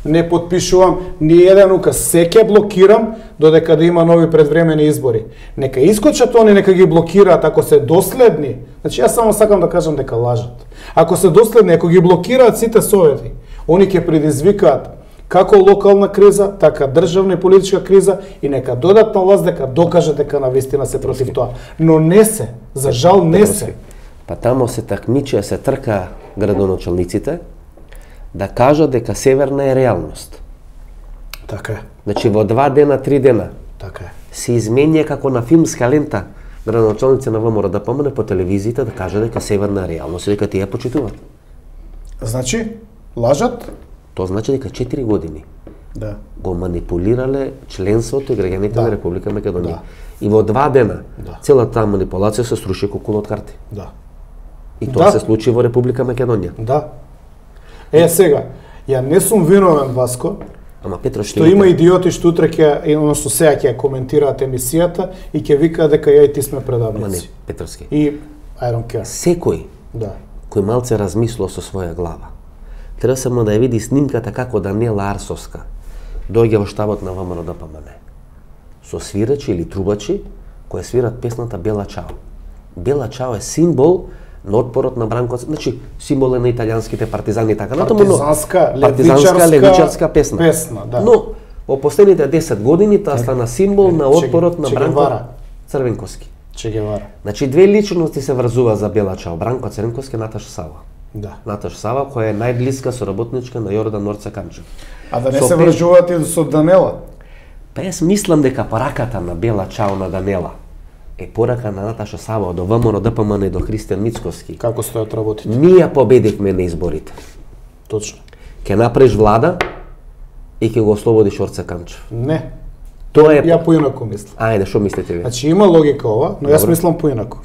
не подпишувам ни еден указ, се ќе блокирам додека да има нови предвремени избори. Нека искочат они, нека ги блокираат ако се доследни. Значи јас само сакам да кажам дека лажат. Ако се доследни, ако ги блокираат сите совети, они ќе предизвикаат како локална криза, така државна и политичка криза и нека додат на власт дека докажат дека навистина се против тоа. Но не се, за жал не се. Па тамо се такмичија, се трка градоначалниците да кажат дека Северна е реалност. Така е. Значи во два дена, три дена така е. Се изменја како на филмска лента градоначалници на ВМРО да помине по телевизијата да каже дека Северна е реалност и дека тие почитуваат. Значи, лажат? Тоа значи дека четири години да. го манипулирале членството и граѓаните да. на Република Македонија. Да. И во два дена да. целата таа манипулација се сруши како кула од карти. Да. И тоа да. се случи во Република Македонија. Да. Е сега, ја не сум виновен, Васко, ама Петро што има идиоти што утре ќе, односно сега ќе коментираат емисијата и ќе викаат дека ја и ти сме предавници. Ама не, Петровски. И I don't care. Секој да. кој малце размислува со своја глава, треба само да ја види снимката како Даниела Арсовска доаѓа во штабот на ВМРО да помане. Со свирачи или трубачи кои свират песната Бела Чао. Бела Чао е символ на отпорот на Бранко, значи символ е на италијанските партизани така натаму, партизанска, партизанска левичарска песна. песна да. Но во последните десет години таа стана символ на отпорот на Бранко Црвенковски. Че Гевара. Значи две личности се врзува за Бела Чао, Бранко Црвенковски и Наташа Сава. Да. Наташа Сава која е најблиска соработничка на Јордан Орце Камчев. А да не со се врзуваат и со Данела? Па јас мислам дека пораката на Бела Чао на Данела е порака на Наташа Сава до ВМРО ДПМН и до Христијан Мицковски. Како стојат работите? Ние победивме на изборите. Точно. Ке направиш влада и ќе го ослободиш Орце Камчев. Не. Тоа е Ја поинаку мислам. Ајде, што мислите ви? Значи има логика ова, но јас Добро. мислам поинаку.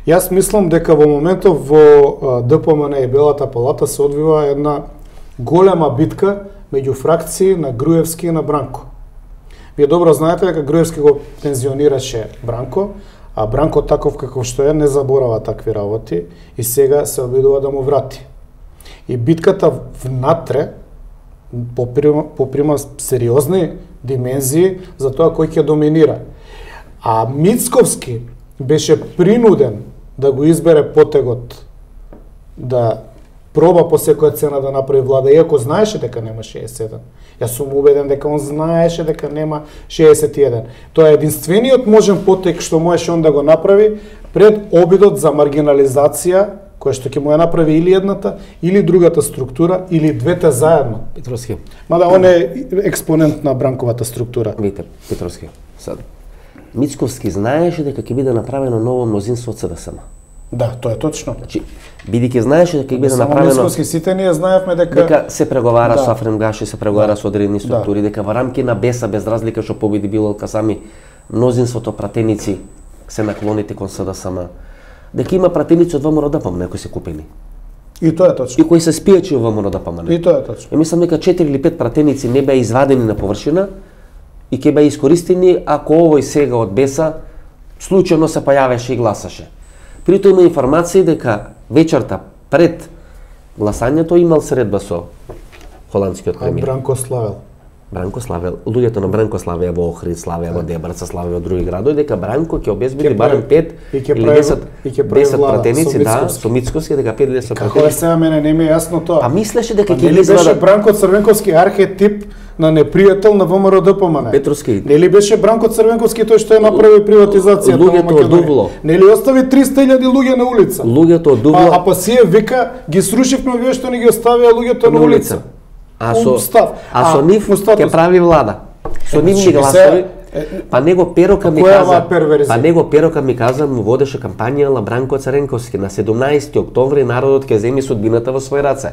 Јас мислам дека во моментов во ДПМН и Белата палата се одвива една голема битка меѓу фракции на Груевски и на Бранко. Вие добро знаете дека Груевски го пензионираше Бранко, а Бранко таков каков што е не заборава такви работи и сега се обидува да му врати. И битката внатре поприма, поприма сериозни димензии за тоа кој ќе доминира. А Мицковски беше принуден да го избере потегот да проба по секоја цена да направи влада, иако знаеше дека нема шеесет и еден. Јас сум убеден дека он знаеше дека нема шеесет и еден. Тоа е единствениот можен потек што можеше он да го направи пред обидот за маргинализација, која што ќе му ја направи или едната, или другата структура, или двете заедно. Петровски. Мада он е експонент на Бранковата структура. Видите, Петровски, сад. Мицковски знаеше дека ќе биде направено ново мнозинство од СДСМ. Да, тоа е точно. Значи, бидејќи знаеше дека ќе биде Само направено Мицковски, сите ние знаевме дека дека се преговара Да. со Афрем Гаши, се преговара Да. со одредени структури, дека во рамки на Беса без разлика што победи Билал Касами, мнозинството пратеници се наклоните кон СДСМ. Дека има пратеници од ВМРО-ДПМН кои се купени. и тоа е точно. И кои се спијачи во ВМРО-ДПМН. И тоа е точно. Ја мислам дека четири или пет пратеници не беа извадени на површина и ќе беа искористени ако овој сега од Беса случајно се појавеше и гласаше. Притоа има информации дека вечерта пред гласањето имал средба со холандскиот А премиер. Бранко Славел. Бранко Славел, луѓето на Бранко Славеа во Охрид, Славеа во Дебрца, Славеа во други градови, дека Бранко ќе обезбеди Ќе барем прави- пет и ќе или прави- десет, и ќе прави десет влада пратеници, со да, Мицковски. со Мицковски, дека пет или десет Како е пратеници. сега, мене не ми е јасно тоа. Па мислеше дека Па ќе нели ги беше извада Бранко Црвенковски архетип на непријател на ВМРО-ДПМН? Петровски. Нели беше Бранко Црвенковски тој што ја направи приватизацијата во Луѓето од Македонија? Дубло. Нели остави триста илјади луѓе на улица? луѓето од А, Дубло а па сие вика ги срушивме овие што ни ги оставија луѓето на улица. А со Став. а со А, нив му статус. ќе прави влада. Со Е, нивни значи, гласови. се- Па него Перока ми која е каза, оваа перверзија? па него Перока ми каза, му водеше кампања на Бранко Царенковски на седумнаесети октомври народот ќе земе судбината во свој раце.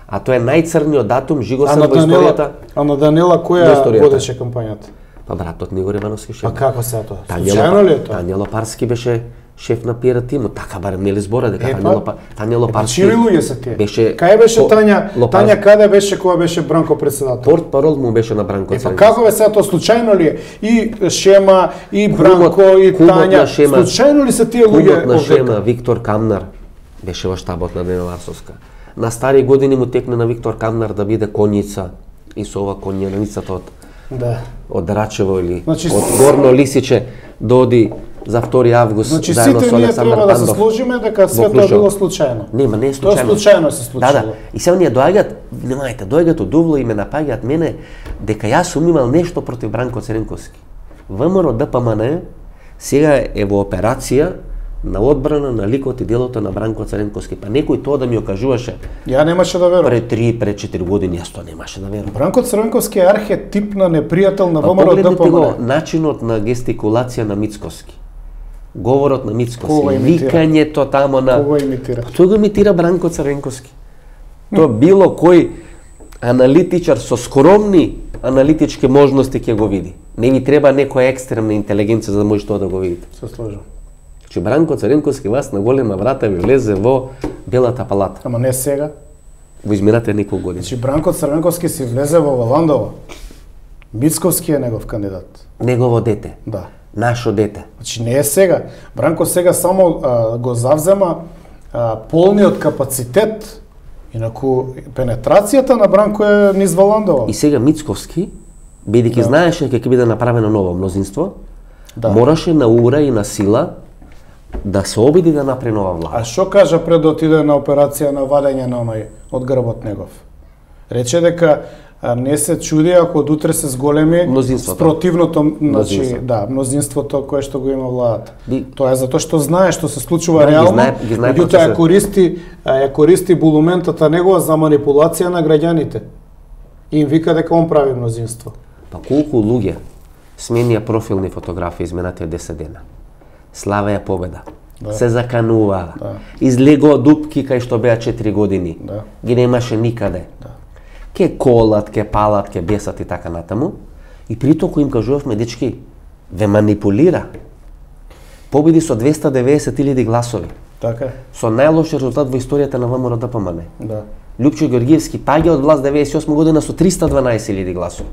А тоа е најцрниот датум А жигосен на во историјата. Данила, а на Данила Во која историјата. водеше кампањата? Па братот Нигор Ивановски шеф. А како се тоа? Тања Случајно ли е Лопа- тоа? Тања Лопарски беше шеф на пиар тимот, така барем нели збора дека Е, Тања па. Лопа Тања Лопарски. Чии луѓе се тие? Беше Кај беше по- Тања? Лопарски. Тања каде беше кога беше Бранко председател? Портпарол му беше на Бранко Е, па Цренковски. како бе сега тоа случајно ли е? И Шема, и Кумот- Бранко, и кумот Тања. на Шема. Случајно ли се тие Кумот луѓе на Шема, овдека? Виктор Камнар, беше во штабот на Денела Арсовска. На стари години му текне на Виктор Камнар да биде конјица и со ова конјаницата од Да. од Рачево или Значи, од с- Горно Лисиче доди за втори август Значи заедно сите со ние Александар треба да се Пандов. сложиме дека све во тоа Клучево. било случајно. Нема, не е Тоа случајно. случајно се случило. Да, да. И сега ние доаѓаат, внимајте, доаѓаат од Дувло и ме напаѓаат мене дека јас сум имал нешто против Бранко Цренковски. ВМРО-ДПМН сега е во операција на одбрана на ликот и делото на Бранко Цренковски. Па некој тоа да ми окажуваше Ја немаше да верувам. пред три, пред четири години, јас тоа немаше да верувам. Бранко Црвенковски е архетип на непријател на Па погледнете го ВМРО-ДПМН. начинот на гестикулација на Мицковски. Говорот на Кога Мицковски, имитира? викањето тамо на Кого имитира? Па тој го имитира Бранко Црвенковски. Тоа било кој аналитичар со скромни аналитички можности ќе го види. Не ви треба некоја екстремна интелигенција за да може тоа да го видите. Се сложам. Че Бранко Црвенковски вас на голема врата ви влезе во Белата палата Ама не сега. во измината неколку години. Значи Бранко Црвенковски си влезе во Валандово. Мицковски е негов кандидат. Негово дете, Да. нашо дете. Значи не е сега. Бранко сега само а, го завзема а, полниот капацитет. Инаку пенетрацијата на Бранко е низ Валандово. И сега Мицковски, бидејќи Да. знаеше дека ќе биде направено ново мнозинство, Да. мораше на ура и на сила да се обиди да направи нова влада. А што кажа пред да отиде на операција на вадење на оној од грбот негов? Рече дека а, не се чуди ако од утре се зголеми Мнозинството. спротивното, значи, Мнозинство. да, мнозинството кое што го има владата. Би- Тоа е затоа што знае што се случува Да, ги реално, знае- ги знае меѓутоа процесот. ја користи, а, ја користи булументата негова за манипулација на граѓаните. И им вика дека он прави мнозинство. Па колку луѓе сменија профилни фотографии изминатите десет дена. Славеа победа. Да. Се закануваа. Да. Излегоа дупки кај што беа четири години. Да. Ги немаше никаде. Да. Ке колат, ке палат, ке бесат и така натаму. И притоа кој им кажувавме, дечки, ве манипулира. Победи со двесте и деветдесет илјади гласови. Така е. Со најлош резултат во историјата на ВМРО-ДПМН. Да. Лјупчо Георгиевски паѓа од власт деветдесет и осма година со триста и дванаесет илјади гласови.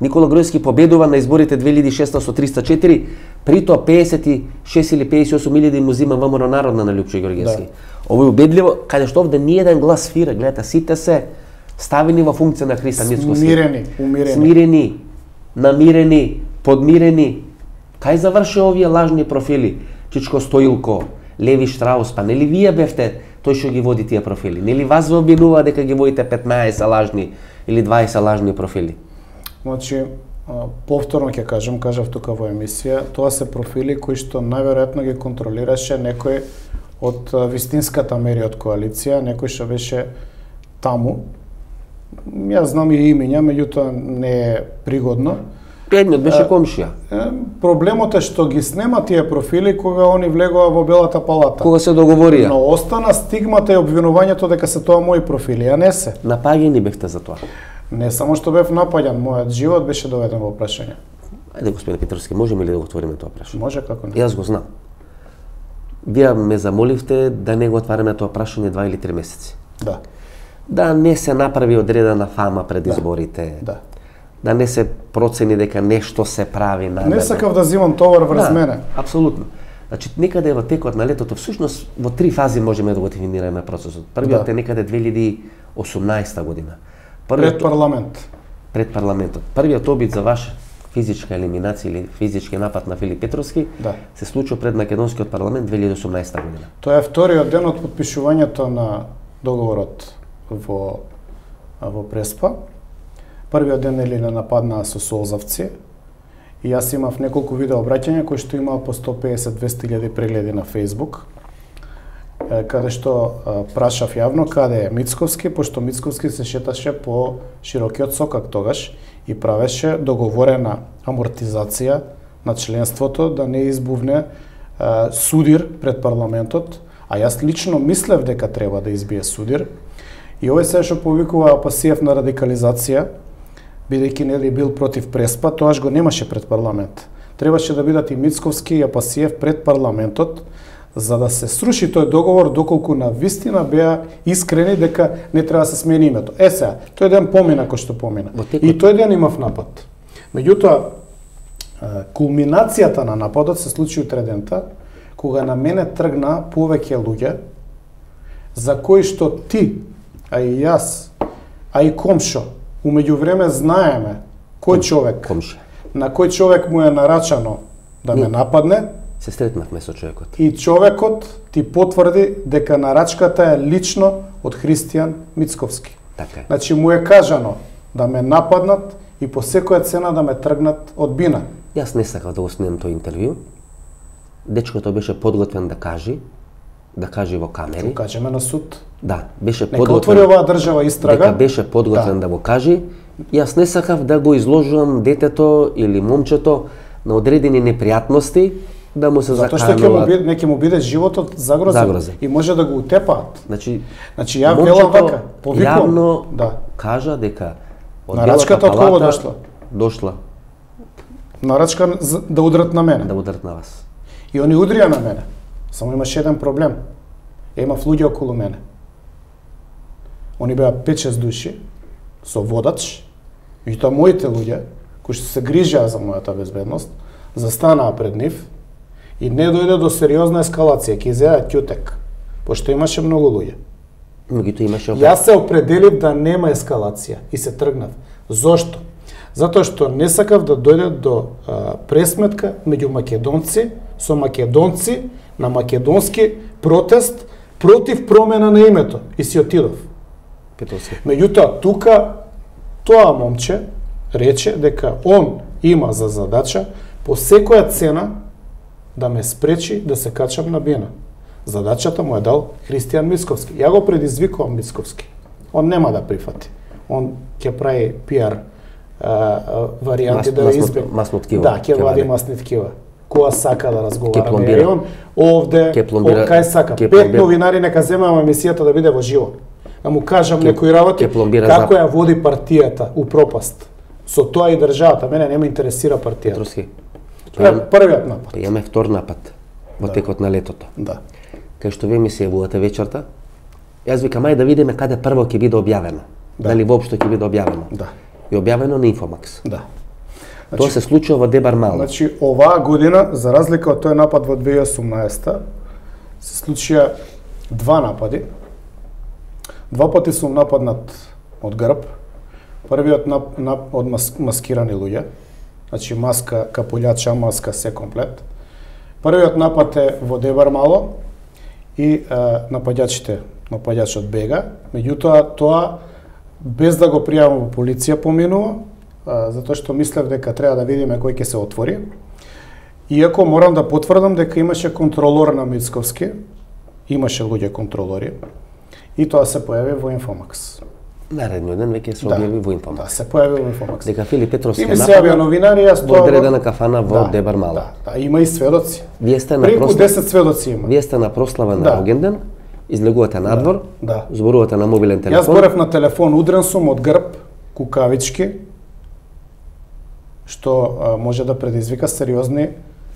Никола Гројски победува на изборите две илјади и шеста со триста и четири, притоа пеесет и шест или пеесет и осум илјади му зима ВМРО Народна на Лјупчо Георгиевски. Да. Ово е убедливо, каде што овде ни еден глас свира, гледате, сите се ставени во функција на Христа Мицковски. Смирени, умирени. Смирени, намирени, подмирени. Кај заврши овие лажни профили? Чичко Стоилко, Леви Штраус, па нели вие бевте тој што ги води тие профили? Нели вас ве обвинува дека ги водите петнаесет лажни или дваесет лажни профили? Значи, повторно ќе кажам, кажав тука во емисија, тоа се профили кои што најверојатно ги контролираше некој од вистинската Мериот коалиција, некој што беше таму. Јас знам и имиња, меѓутоа не е пригодно. Едниот беше комшија. Проблемот е што ги снема тие профили кога они влегува во Белата палата. Кога се договорија. Но остана стигмата и обвинувањето дека се тоа мои профили, а не се. Напаѓани бевте за тоа. Не само што бев напаѓан, мојот живот беше доведен во прашање. Ајде, господин Петровски, можеме ли да го отвориме тоа прашање? Може, како не. Јас го знам. Вие ме замоливте да не го отвараме тоа прашање два или три месеци. Да. Да не се направи одредена фама пред изборите. Да. Да не се процени дека нешто се прави намерно. Не сакав да земам товар врз да, мене. Апсолутно. Значи, некаде во текот на летото, всушност во три фази можеме да го дефинираме процесот. Првиот да. е некаде две илјади и осумнаесета година. Првиот, пред парламент. Пред парламентот. Првиот обид за ваш физичка елиминација или физички напад на Филип Петровски да. се случува пред македонскиот парламент две илјади и осумнаесета година. Тоа е вториот ден од потпишувањето на договорот во во Преспа. Првиот ден нели на нападнаа со солзавци. И јас имав неколку видео обраќања кои што имаа по сто песет до двесте илјади прегледи на Facebook, каде што прашав јавно каде е Мицковски, пошто Мицковски се шеташе по широкиот сокак тогаш и правеше договорена амортизација на членството да не избувне а, судир пред парламентот, а јас лично мислев дека треба да избие судир. И овој се што повикува Апасиев на радикализација, бидејќи нели бил против Преспа, тоаш го немаше пред парламент. Требаше да бидат и Мицковски и Апасиев пред парламентот, за да се сруши тој договор доколку на вистина беа искрени дека не треба да се смени името. Е сега, тој ден помина кој што помина. И тој ден имав напад. Меѓутоа, кулминацијата на нападот се случи утредента, кога на мене тргна повеќе луѓе, за кои што ти, а и јас, а и комшо, умеѓу време знаеме кој човек, комшија, на кој човек му е нарачано да ме нападне, се стретнавме со човекот. И човекот ти потврди дека нарачката е лично од Христијан Мицковски. Така е. Значи му е кажано да ме нападнат и по секоја цена да ме тргнат од бина. Јас не сакав да го снимам тој интервју. Дечкото беше подготвен да кажи, да кажи во камери. Ќе кажеме на суд. Да, беше Нека подготвен. отвори оваа држава истрага. Дека беше подготвен да. да го кажи. Јас не сакав да го изложувам детето или момчето на одредени непријатности, да му се Затоа заканува. што ќе му биде, не ќе му биде животот загрозен, загрозен и може да го утепаат. Значи, значи ја велам вака, повикувам. Јавно да. кажа дека од нарачката од кого дошла? Дошла. Нарачка да удрат на мене. Да удрат на вас. И они удрија на мене. Само имаше еден проблем. Ја имав луѓе околу мене. Они беа пет-шест души со водач, и тоа моите луѓе кои што се грижеа за мојата безбедност, застанаа пред нив и не дојде до сериозна ескалација, ќе изеа ќутек, пошто имаше многу луѓе. Меѓутоа имаше Јас се определив да нема ескалација и се тргнав. Зошто? Затоа што не сакав да дојде до а, пресметка меѓу македонци со македонци на македонски протест против промена на името и си отидов. Петровски. Меѓутоа тука тоа момче рече дека он има за задача по секоја цена да ме спречи да се качам на бина. Задачата му е дал Христијан Мицковски. Ја го предизвикувам Мицковски. Он нема да прифати. Он ќе прави пиар а, а, варијанти Мас, да масно, избег. масно ткива. Да, ќе вади масни ткива. Која сака да разговараме. И он овде, о, кај сака. Пет новинари нека земеме емисијата да биде во живо. Да му кажам ке, некои работи, како за... ја води партијата у пропаст. Со тоа и државата. Мене не ме интересира партијата. Петровски. Тоа е првиот напад. Па имаме втор напад во да. текот на летото. Да. Кај што вие ми се јавувате вечерта, јас викам ајде да видиме каде прво ќе биде објавено. Да. Дали воопшто ќе биде објавено. Да. И објавено на Инфомакс. Да. Значи, тоа се случува во Дебар Мало. Значи, оваа година, за разлика од тој напад во две илјади и осумнаесета, се случија два напади. Два пати сум нападнат од грб. Првиот нап, нап, од мас, маскирани луѓе. Значи, маска, капулјача, маска, се комплет. Првиот напад е во Дебар Мало и е, нападјачите напаѓачот бега, меѓутоа тоа без да го пријавам во полиција поминува, затоа што мислев дека треба да видиме кој ќе се отвори. Иако морам да потврдам дека имаше контролор на Мицковски, имаше луѓе контролори, и тоа се појави во Инфомакс. Наредниот ден веќе се објави во Инфомакс. Да, се појави во Инфомакс. Дека Филип Петровски и ми се јавија новинари, јас тоа во одредена кафана во да, Дебар Мала. Да, да, има и сведоци. Вие сте на преку прослава... десет сведоци има. Вие сте на прослава на да. Рогенден, излегувате надвор, да, да. зборувате на мобилен телефон. Јас зборев на телефон, удрен сум од грб, кукавички, што а, може да предизвика сериозни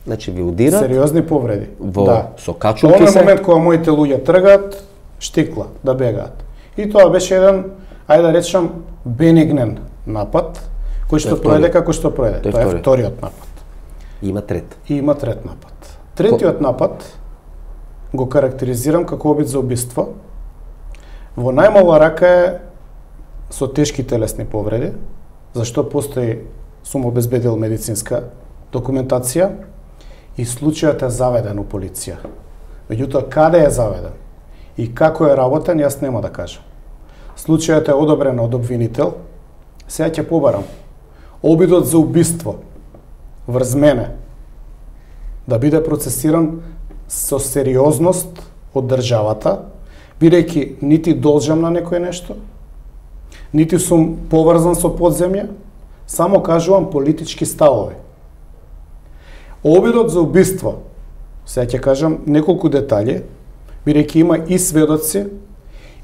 Значи ви удира сериозни повреди. Во да. со качулки се. се. Момент кога моите луѓе тргаат, штикла да бегаат. И тоа беше еден, ајде да речам, бенигнен напад, кој што пројде како што пројде. Тоа е вториот напад. Има трет. И има трет напад. Третиот Ко... напад го карактеризирам како обид за убиство. Во најмала рака е со тешки телесни повреди, зашто постои сум обезбедил медицинска документација и случајот е заведен у полиција. Меѓутоа, каде е заведен и како е работен, јас нема да кажам. Случајот е одобрен од обвинител. Сега ќе побарам. Обидот за убиство врз мене да биде процесиран со сериозност од државата, бидејќи нити должам на некој нешто, нити сум поврзан со подземја, само кажувам политички ставови. Обидот за убиство, сега ќе кажам неколку детали, бидејќи има и сведоци,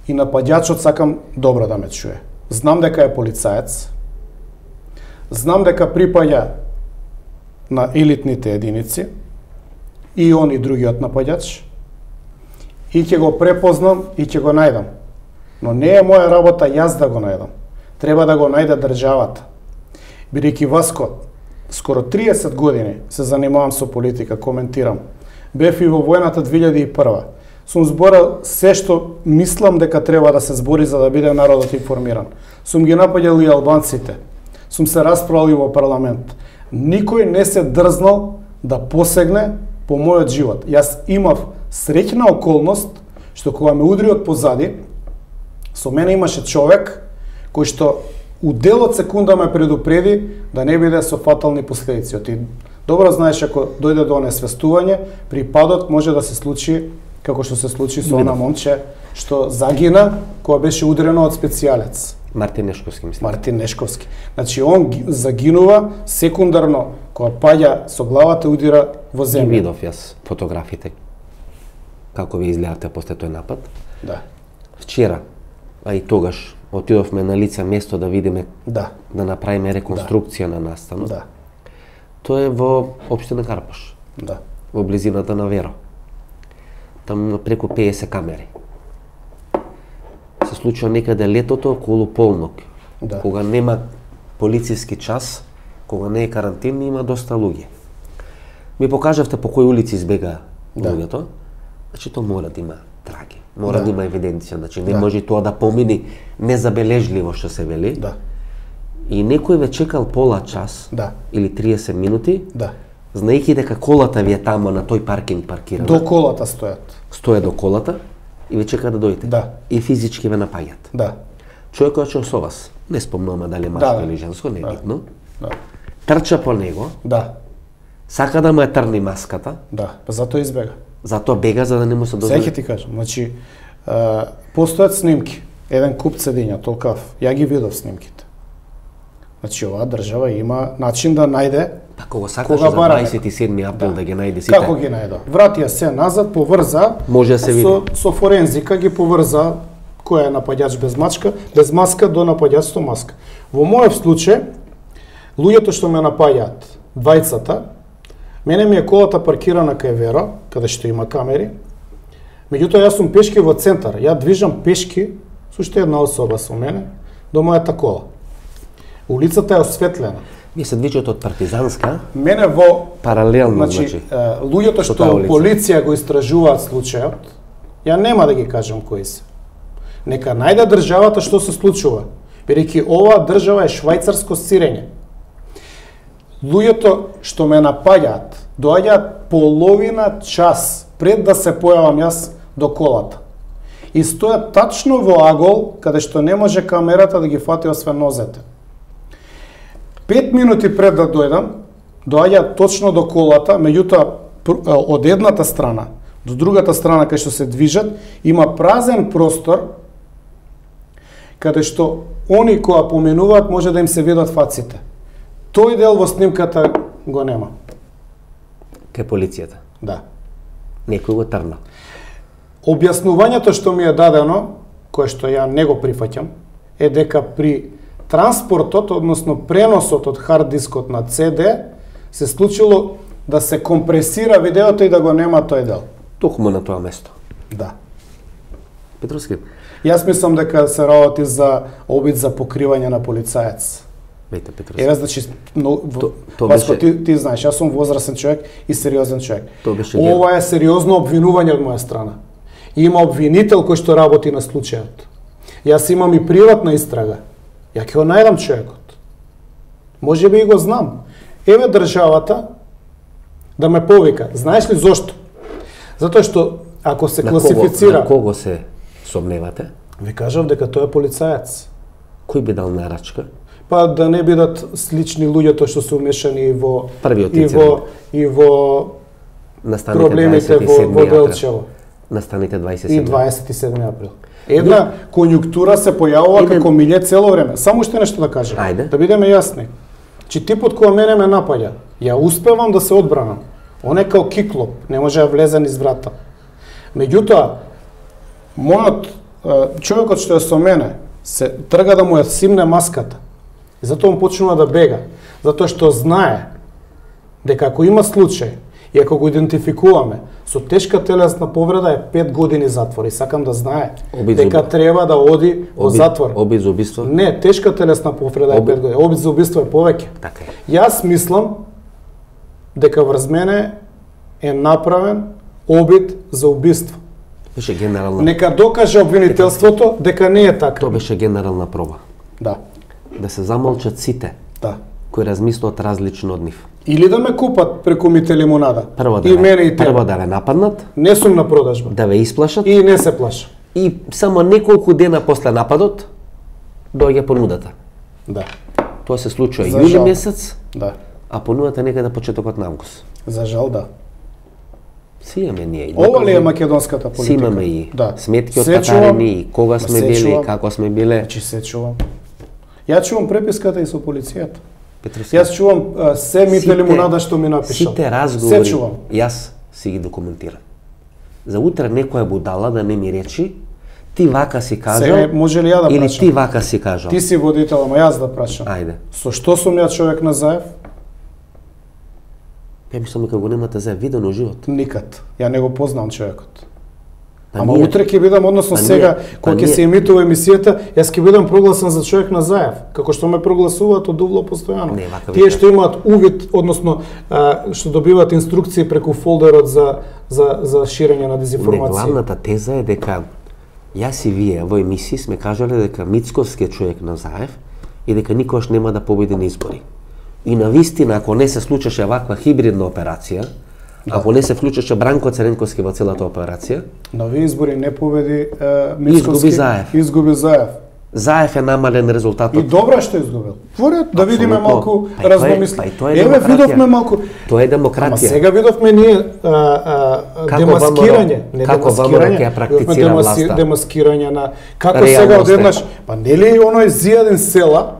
и нападјачот сакам добро да ме чуе. Знам дека е полицаец, знам дека припаѓа на елитните единици, и он и другиот нападјач, и ќе го препознам и ќе го најдам. Но не е моја работа јас да го најдам. Треба да го најде државата. Бидејќи Васко, скоро триесет години се занимавам со политика, коментирам. Бев и во војната две илјади и прва. Сум зборал се што мислам дека треба да се збори за да биде народот информиран. Сум ги напаѓал и албанците. Сум се расправил и во парламент. Никој не се дрзнал да посегне по мојот живот. Јас имав среќна околност што кога ме удри од позади, со мене имаше човек кој што у дел од секунда ме предупреди да не биде со фатални последици. Ти добро знаеш, ако дојде до онесвестување, при падот може да се случи како што се случи со она момче што загина кога беше удрено од специјалец. Мартин Нешковски, мислам. Мартин Нешковски. Значи, он загинува секундарно кога паѓа со главата удира во земја. Ги видов јас фотографите како ви изгледавте после тој напад. Да. Вчера, а и тогаш, отидовме на лице место да видиме, да, да направиме реконструкција да. на настанот. Да. Тоа е во општина Карпош. Да. Во близината на Веро. Таму има преку педесет камери. Се случува некаде летото околу полнок. Да. Кога нема полициски час, кога не е карантин, има доста луѓе. Ми покажавте по кои улици избега да. луѓето. Значи, тоа мора да има траги. Мора да, да има евиденција. Значи, не да. може тоа да помини незабележливо, што се вели. Да. И некој ве чекал пола час да. или триесет минути, да. знаејќи дека колата ви е тамо на тој паркинг паркирана. До колата стојат. Стоја до колата и ве чека да дојдете. Да. И физички ве напаѓат. Да. Човекот што со вас, не спомнуваме дали машко да, или женско, не е да. битно. Да. Трча по него. Да. Сака да му е трни маската. Да, па затоа избега. Затоа бега за да не му се дозволи. Сега ти кажам, значи а, постојат снимки. Еден куп седиња, толкав. Ја ги видов снимките. Значи оваа држава има начин да најде. Па кога сакаш за дваесет и седми април да, да ги најде сите. Како ги најде? Вратија се назад, поврза. Може да се види. Со, со форензика ги поврза кој е напаѓач без мачка, без маска до напаѓач со маска. Во мојот случај, луѓето што ме напаѓаат, двајцата, мене ми е колата паркирана кај Веро, каде што има камери. Меѓутоа јас сум пешки во центар. Ја движам пешки со уште една особа со мене до мојата кола. Улицата е осветлена. Вие се движите од Партизанска? Мене во паралелно, значи, значи луѓето што полиција го истражуваат случајот, ја нема да ги кажам кои се. Нека најде државата што се случува, бидејќи оваа држава е швајцарско сирење. Луѓето што ме напаѓаат, доаѓаат половина час пред да се појавам јас до колата. и стојат тачно во агол каде што не може камерата да ги фати освен нозете. Пет минути пред да дојдам, доаѓа точно до колата, меѓутоа од едната страна до другата страна кај што се движат има празен простор каде што они кои поменуваат може да им се видат фаците. Тој дел во снимката го нема. Кај полицијата? Да. Некој го трна. Објаснувањето што ми е дадено, кое што ја не го прифаќам, е дека при транспортот, односно преносот од хард дискот на Си Ди, се случило да се компресира видеото и да го нема тој дел. Токму на тоа место. Да. Петровски. Јас мислам дека се работи за обид за покривање на полицаец. Веќе Петровски. Еве значи, но то, то Васко, беше... ти, ти знаеш, јас сум возрастен човек и сериозен човек. Беше Ова е сериозно обвинување од моја страна. Има обвинител кој што работи на случајот. Јас имам и приватна истрага. Ја ќе го најдам човекот. Може би и го знам. Еве државата да ме повика. Знаеш ли зошто? Затоа што ако се на класифицира... Кого, на кого се сомневате? Ви кажав дека тој е полицаец. Кој би дал нарачка? Па да не бидат слични луѓето што се умешани во Првиот и во и во Настаните проблемите во, во Делчево. Настаните дваесет и И седми дваесет и седми април. Една конјунктура се појавува Еден... како милје цело време. Само уште нешто да кажам. Ајде. Да бидеме јасни. Че типот кој мене ме напаѓа, ја успевам да се одбранам. Он е као киклоп, не може да влезе низ врата. Меѓутоа, мојот човекот што е со мене се трга да му ја симне маската. И затоа он почнува да бега, затоа што знае дека ако има случај и ако го идентификуваме со тешка телесна повреда е пет години затвор и сакам да знае Обид дека за... треба да оди во Обид... затвор. Обид за убиство? Не, тешка телесна повреда е Обид... пет години. Обид за убиство е повеќе. Така е. Јас мислам дека врз мене е направен обид за убиство. Беше генерална... Нека докаже обвинителството дека не е така. Тоа беше генерална проба. Да. Да се замолчат сите Да. кои размислуваат различно од нив. Или да ме купат преку Мите Лимонада. Прво да и ве, мене и тебе. прво да ве нападнат, Не сум на продажба. да ве исплашат И не се плашам. и само неколку дена после нападот доаѓа понудата. Да. Тоа се случува За јули жал. месец, Да. а понудата некаде почетокот на август. За жал, да. Си имаме ние. и Ова ли е докази. македонската политика? Си имаме и да. сметки од Се чувам, татарини, и кога сме се били, чувам. како сме биле. Значи се чувам. Ја чувам преписката и со полицијата. Петровски, Јас чувам а, се Мите Сите- Лимонада што ми напишал. Сите разговори, Се чувам. јас си ги документирам. За утре некоја будала да не ми речи, ти вака си кажал, Сега може ли ја да или прашам? ти вака си кажал. Ти си водител, ама јас да прашам. Ајде. Со што сум ја човек на Заев? Ја мислам дека го немате за видено живот. Никад. Ја не го познавам човекот. Па Ама ние- утре ќе бидам, односно па сега, ние- па кога ќе ние- се емитува емисијата, јас ќе бидам прогласен за човек на Заев, како што ме прогласуваат од Увло постојано. Не, вака Тие вика. што имаат увид, односно а, што добиваат инструкции преку фолдерот за за за ширење на Не, дезинформација. главната теза е дека јас и вие во емисии сме кажале дека Мицковски е човек на Заев и дека никош нема да победи на избори. И на вистина, ако не се случеше ваква хибридна операција, Да. ако не се вклучеше Бранко Церенковски во целата операција, На овие избори не победи е, Мицковски. Изгуби Заев. Изгуби Заев. Заев е намален резултатот. И добра што изгубил. Во ред, да видиме Апсолутно. малку Па и тоа е- разномисли. па и тоа е Еве демократија. видовме малку. Тоа е Ама демократија. сега видовме ние а, а, Како демаскирање, ВМРО не како ВМРО демаскирање, ќе ја практицира видовме власта. демаскирање на како Реалност сега е. одеднаш, па нели оној Зијадин Села,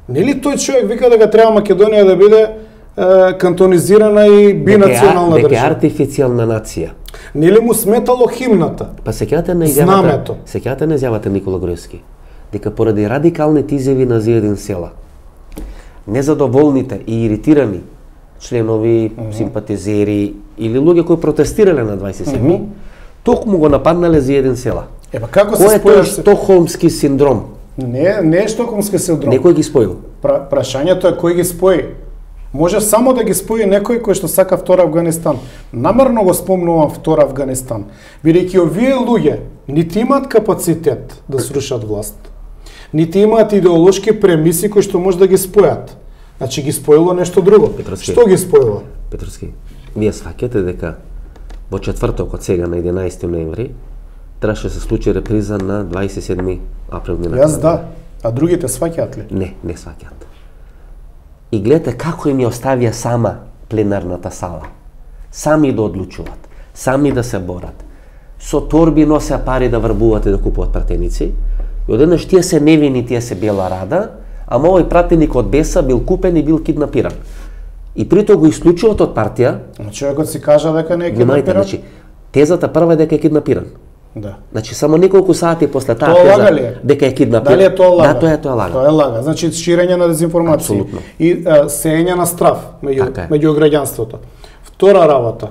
нели тој човек вика дека треба Македонија да биде е, кантонизирана и бинационална дека е држава. артифицијална нација. Нели му сметало химната? Па сеќавате на изјавата, Знамето. сеќавате на изјавата Никола Груевски, дека поради радикалните изјави на Зијадин Села, незадоволните и иритирани членови, mm -hmm. симпатизери или луѓе кои протестирале на дваесет и седми, mm -hmm. токму го нападнале Зијадин Села. Ева како се Кој е тој споја? штокхолмски синдром? Не, не е штокхолмски синдром. Некој ги споил. Пра, прашањето е кој ги спои. Може само да ги спои некој кој што сака втор Афганистан. Намерно го спомнувам втор Афганистан, бидејќи овие луѓе нити имаат капацитет да срушат власт, нити имаат идеолошки премиси кои што може да ги спојат. Значи ги споило нешто друго. Петровски. Што ги споило? Петровски, вие сваќате дека во четвртокот сега на единаесети ноември требаше да се случи реприза на дваесет и седми април минатата. Јас да, а другите сваќаат ли? Не, не сваќаат. И гледате како им ја оставија сама пленарната сала. Сами да одлучуваат, сами да се борат. Со торби носеа пари да врбуваат и да купуваат пратеници. И одеднаш тие се невини, тие се бела рада, ама овој пратеник од Беса бил купен и бил киднапиран. И притоа го исклучуваат од партија. Човекот си кажа дека не е киднапиран. Значи, тезата прва е дека е киднапиран. Да. Значи само неколку сати после таа тоа теза е? дека е киднапиран. Дали е тоа лага? Да, тоа е тоа лага. Тоа е лага. Значи ширење на дезинформација. Апсолутно. И а, сеење на страв меѓу Така е. меѓу граѓанството. Втора работа.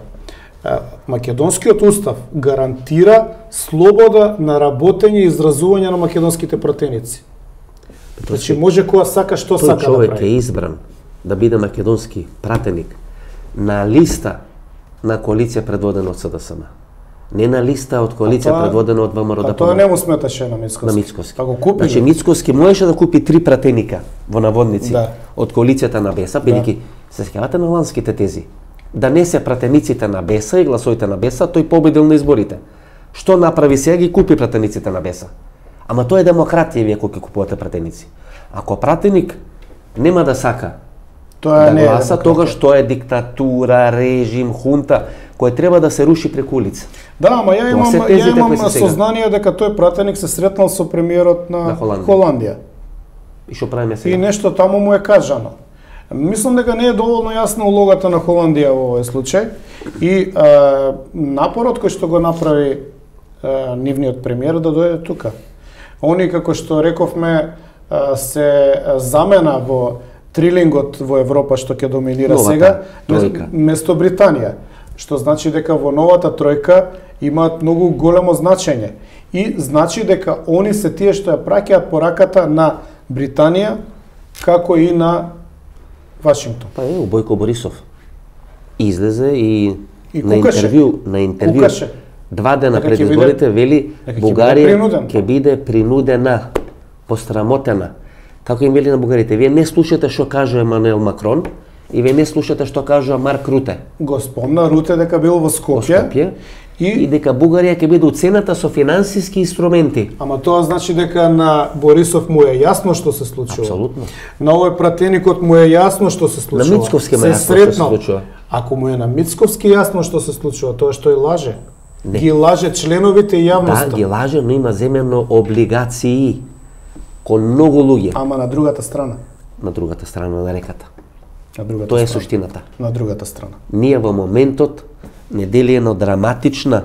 А, македонскиот устав гарантира слобода на работење и изразување на македонските пратеници. Значи може кога сака што Тој сака да човек прави. е избран да биде македонски пратеник на листа на коалиција предводена од СДСМ. Не на листа од коалиција тоа- предводена од ВМРО А тоа не му сметаше на Мицковски. на Мицковски. Па го купи. Значи Мицковски можеше да купи три пратеника во наводници Да. од коалицијата на Беса, бидејќи се сеќавате на ланските тези. Да не се пратениците на Беса и гласовите на Беса, тој победил на изборите. Што направи сега, ги купи пратениците на Беса. Ама тоа е демократија вие кога ќе купувате пратеници. Ако пратеник нема да сака Тоа да не е гласа, демократија. тогаш тоа е диктатура, режим, хунта, кој треба да се руши преку улица. Да, ама ја Тоа имам, се ја тезите имам кои се сега. сознание дека тој пратеник се сретнал со премиерот на, На Холандија. Холандија. И што правиме И сега? нешто таму му е кажано. Мислам дека не е доволно јасна улогата на Холандија во овој случај и а, напорот кој што го направи а, нивниот премиер да дојде тука. Они, како што рековме, а, се замена во трилингот во Европа што ќе доминира Новата сега тројка. место Британија, што значи дека во новата тројка имаат многу големо значење и значи дека они се тие што ја праќаат пораката на Британија како и на Вашингтон. Па е, Бојко Борисов излезе и, И на кукаше. интервју, на интервју Кукаше. два дена Дека пред ќе биде- изборите вели дека ќе Бугарија биде принуден. ќе биде принудена, пострамотена. Како им вели на бугарите, вие не слушате што кажува Емануел Макрон и вие не слушате што кажува Марк Руте Го спомна Руте дека бил во во Скопје, Скопје и, и дека Бугарија ќе биде уцената со финансиски инструменти. ама тоа значи дека на Борисов му е јасно што се случува. Апсолутно. На овој пратеникот му е јасно што се случува. На Мицковски му е Се јасно што се сретнал. случува. Ако му е на Мицковски јасно што се случува, тоа што тој лаже. Не. Ги лаже членовите и Да, јавноста. ги лаже, но има земено облигации кон многу луѓе Ама на другата страна. на другата страна на реката. На другата Тоа е страна. суштината. На другата страна. Ние во моментот недели едно драматична,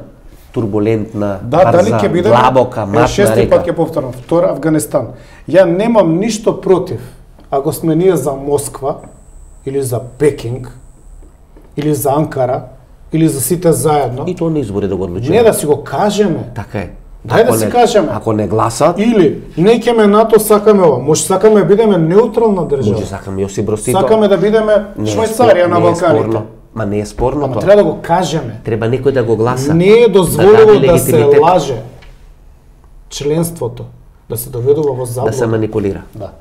турбулентна, Да, дали брза, ќе бидеме длабока, е, матна шести река. пат ќе повторам, втора Афганистан. Ја немам ништо против ако сме ние за Москва или за Пекинг или за Анкара или за сите заедно. И тоа не избори да го одлучиме. Не да си го кажеме. Така е. Дај да Ако си не- кажеме. Ако не гласат, Или не ќеме НАТО, сакаме ова. Може сакаме да бидеме неутрална држава. може сакаме Јосип Брос Тито. Сакаме да бидеме Не е Швајцарија спор- на не е спорно. Балканите. Ма не е спорно Ама тоа. треба да го кажеме. Треба некој да го гласа. Не е дозволено даде да се легитимитет, лаже членството, да се доведува во да се заблуда. манипулира. Да.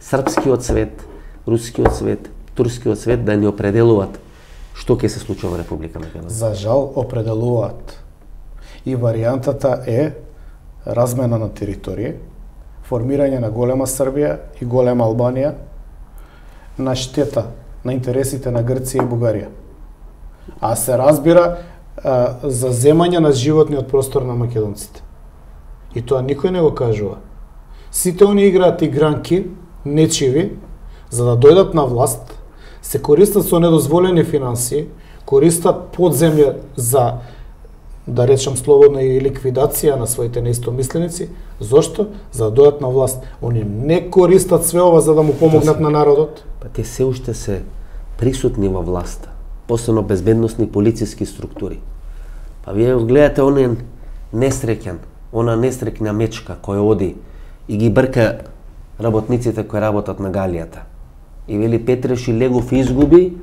Српскиот свет, рускиот свет, турскиот свет да ни определуваат што ќе се случува во Република Македонија. За жал определуваат. И варијантата е размена на територија, формирање на голема Србија и голема Албанија на штета на интересите на Грција и Бугарија. А се разбира а, за земање на животниот простор на македонците. И тоа никој не го кажува. Сите они играат игранки, нечиви, за да дојдат на власт, се користат со недозволени финансии, користат подземја за, да речам слободно, и ликвидација на своите неистомисленици. Зошто? За да дојдат на власт. Они не користат све ова за да му помогнат на народот. Па те се уште се присутни во власта, посебно безбедносни полициски структури. Па вие го гледате онен несреќен, она несреќна мечка која оди и ги брка работниците кои работат на галијата. И вели Петреши Легов изгуби,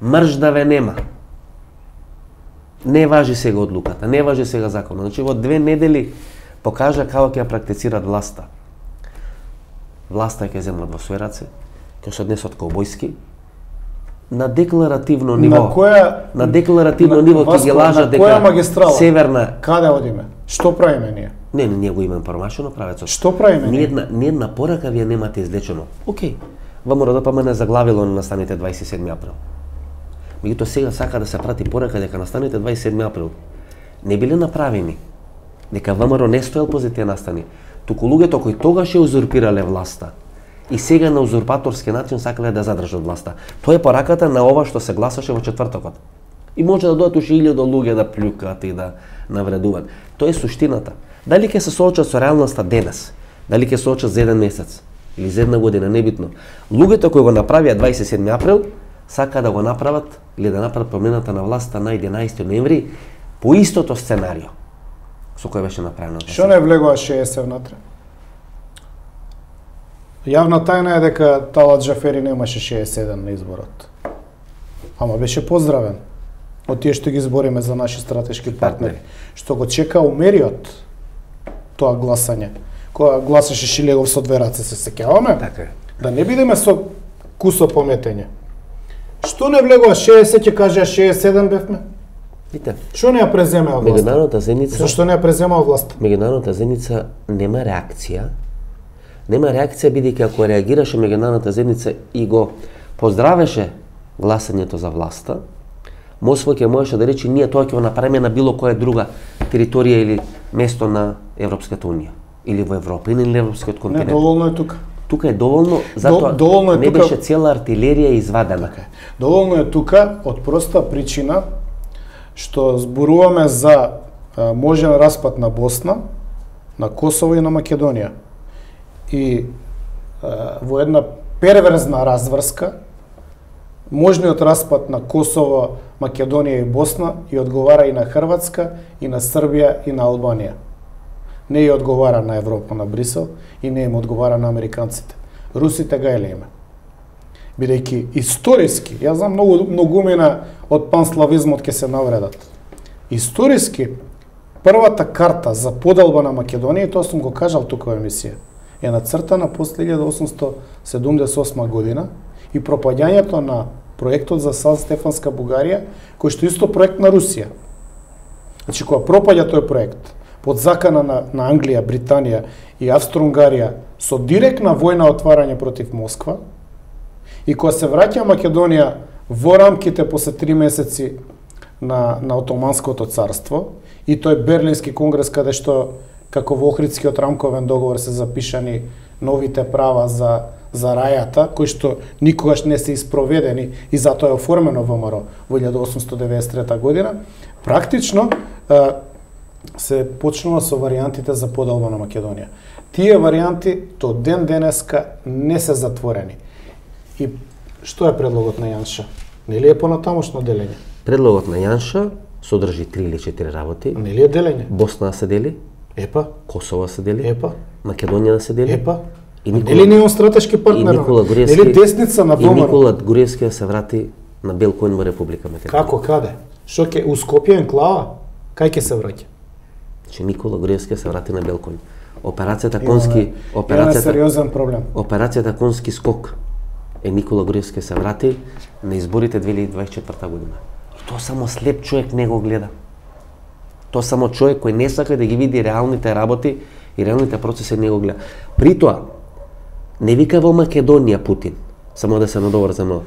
мрждаве нема. Не важи сега одлуката, не важи сега законот. Значи во две недели покажа како ќе ја практицират власта. Власта ќе земат во своји раце, ќе се однесат каубојски, на декларативно ниво. На која на декларативно на- ниво ќе Васко, ги лажат на која дека магистрала? северна Каде одиме? Што правиме ние? Не, не, ние го имаме промашено правецот. Што правиме Ни ние? една, ни една порака вие немате излечено. Океј, ВМРО-ДПМН заглавило на настаните дваесет и седми април. Меѓутоа сега сака да се прати порака дека настаните дваесет и седми април не биле направени, дека ВМРО не стоел по тие настани, туку луѓето кои тогаш ја узурпирале власта и сега на узурпаторски начин сакале да задржат власта. Тоа е пораката на ова што се гласаше во четвртокот. И може да дојдат уште илјади луѓе да плюкаат и да навредуваат. Тоа е суштината. Дали ќе се соочат со реалноста денес, дали ќе се соочат за еден месец или за една година, небитно. Луѓето кои го направија дваесет и седми април сака да го направат или да направат промената на власта на единаесети ноември по истото сценарио со кој беше направено. Што не влегува шеесет внатре? Јавна тајна е дека Талат Джафери немаше шеесет и седум на изборот. Ама беше поздравен од тие што ги збориме за наши стратешки партнери. Што го чека умериот тоа гласање. Кога гласаше Шилегов со две раце, се сеќаваме? Така е. Да не бидеме со кусо пометење. Што не влегува шеесет, ќе кажеа шеесет и седум бевме? Видите, Што не ја преземеа власта? меѓународната заедница, Зашто не ја преземеа власта? меѓународната заедница нема реакција. Нема реакција бидејќи ако реагираше меѓународната заедница и го поздравеше гласањето за власта, Москва ќе можеше да рече ние тоа ќе го направиме на било која друга територија или место на Европската унија или во Европа или на европскиот Не, континент. доволно е тука. Тука е доволно, затоа доволно е не тука- беше цела артилерија извадена. Доволно е тука од проста причина што зборуваме за а, можен распад на Босна, на Косово и на Македонија. И а, во една перверзна разврска, можниот распад на Косово, Македонија и Босна и одговара и на Хрватска, и на Србија, и на Албанија. Не ја одговара на Европа, на Брисел, и не им одговара на американците. Русите га еле име. Бидејќи историски, јас знам многу многумина од панславизмот ќе се навредат. Историски, првата карта за поделба на Македонија, и тоа сум го кажал тука во емисија, е нацртана после илјада осумстотини седумдесет и осма година и пропаѓањето на проектот за Сан Стефанска Бугарија, кој што исто проект на Русија. Значи, кога пропаѓа тој проект, под закана на, на Англија, Британија и Австро-Унгарија со директна војна отварање против Москва, и кога се враќа Македонија во рамките после три месеци на, на Отоманското царство, и тој Берлински конгрес каде што како во Охридскиот рамковен договор се запишани новите права за за рајата, кои што никогаш не се испроведени и затоа е оформено ВМРО во илјада осумстотини деветдесет и трета година, практично е, се почнува со варијантите за поделба на Македонија. Тие варијанти до ден денеска не се затворени. И што е предлогот на Јанша? Нели е понатамошно делење? Предлогот на Јанша содржи три или четири работи. Нели е делење? Босна да се дели, Епа, Косово да се дели, епа, Македонија да се дели. епа. И Никола- Нели не е он стратешки И партнер? Никола Груевски, Нели десница на и ВМРО? Никола Груевски да се врати на бел коњ во Република Македонија. Како, каде? Што ќе у Скопје енклава? Кај ќе се враќа? Че Никола Груевски се врати на бел коњ. Операцијата Конски, Имаме операцијата сериозен проблем. Операцијата Конски скок е Никола Груевски се врати на изборите две илјади дваесет и четврта година. И тоа само слеп човек не го гледа. Тоа само човек кој не сака да ги види реалните работи и реалните процеси не го гледа. При тоа, не вика во Македонија Путин, само да се надоврзам,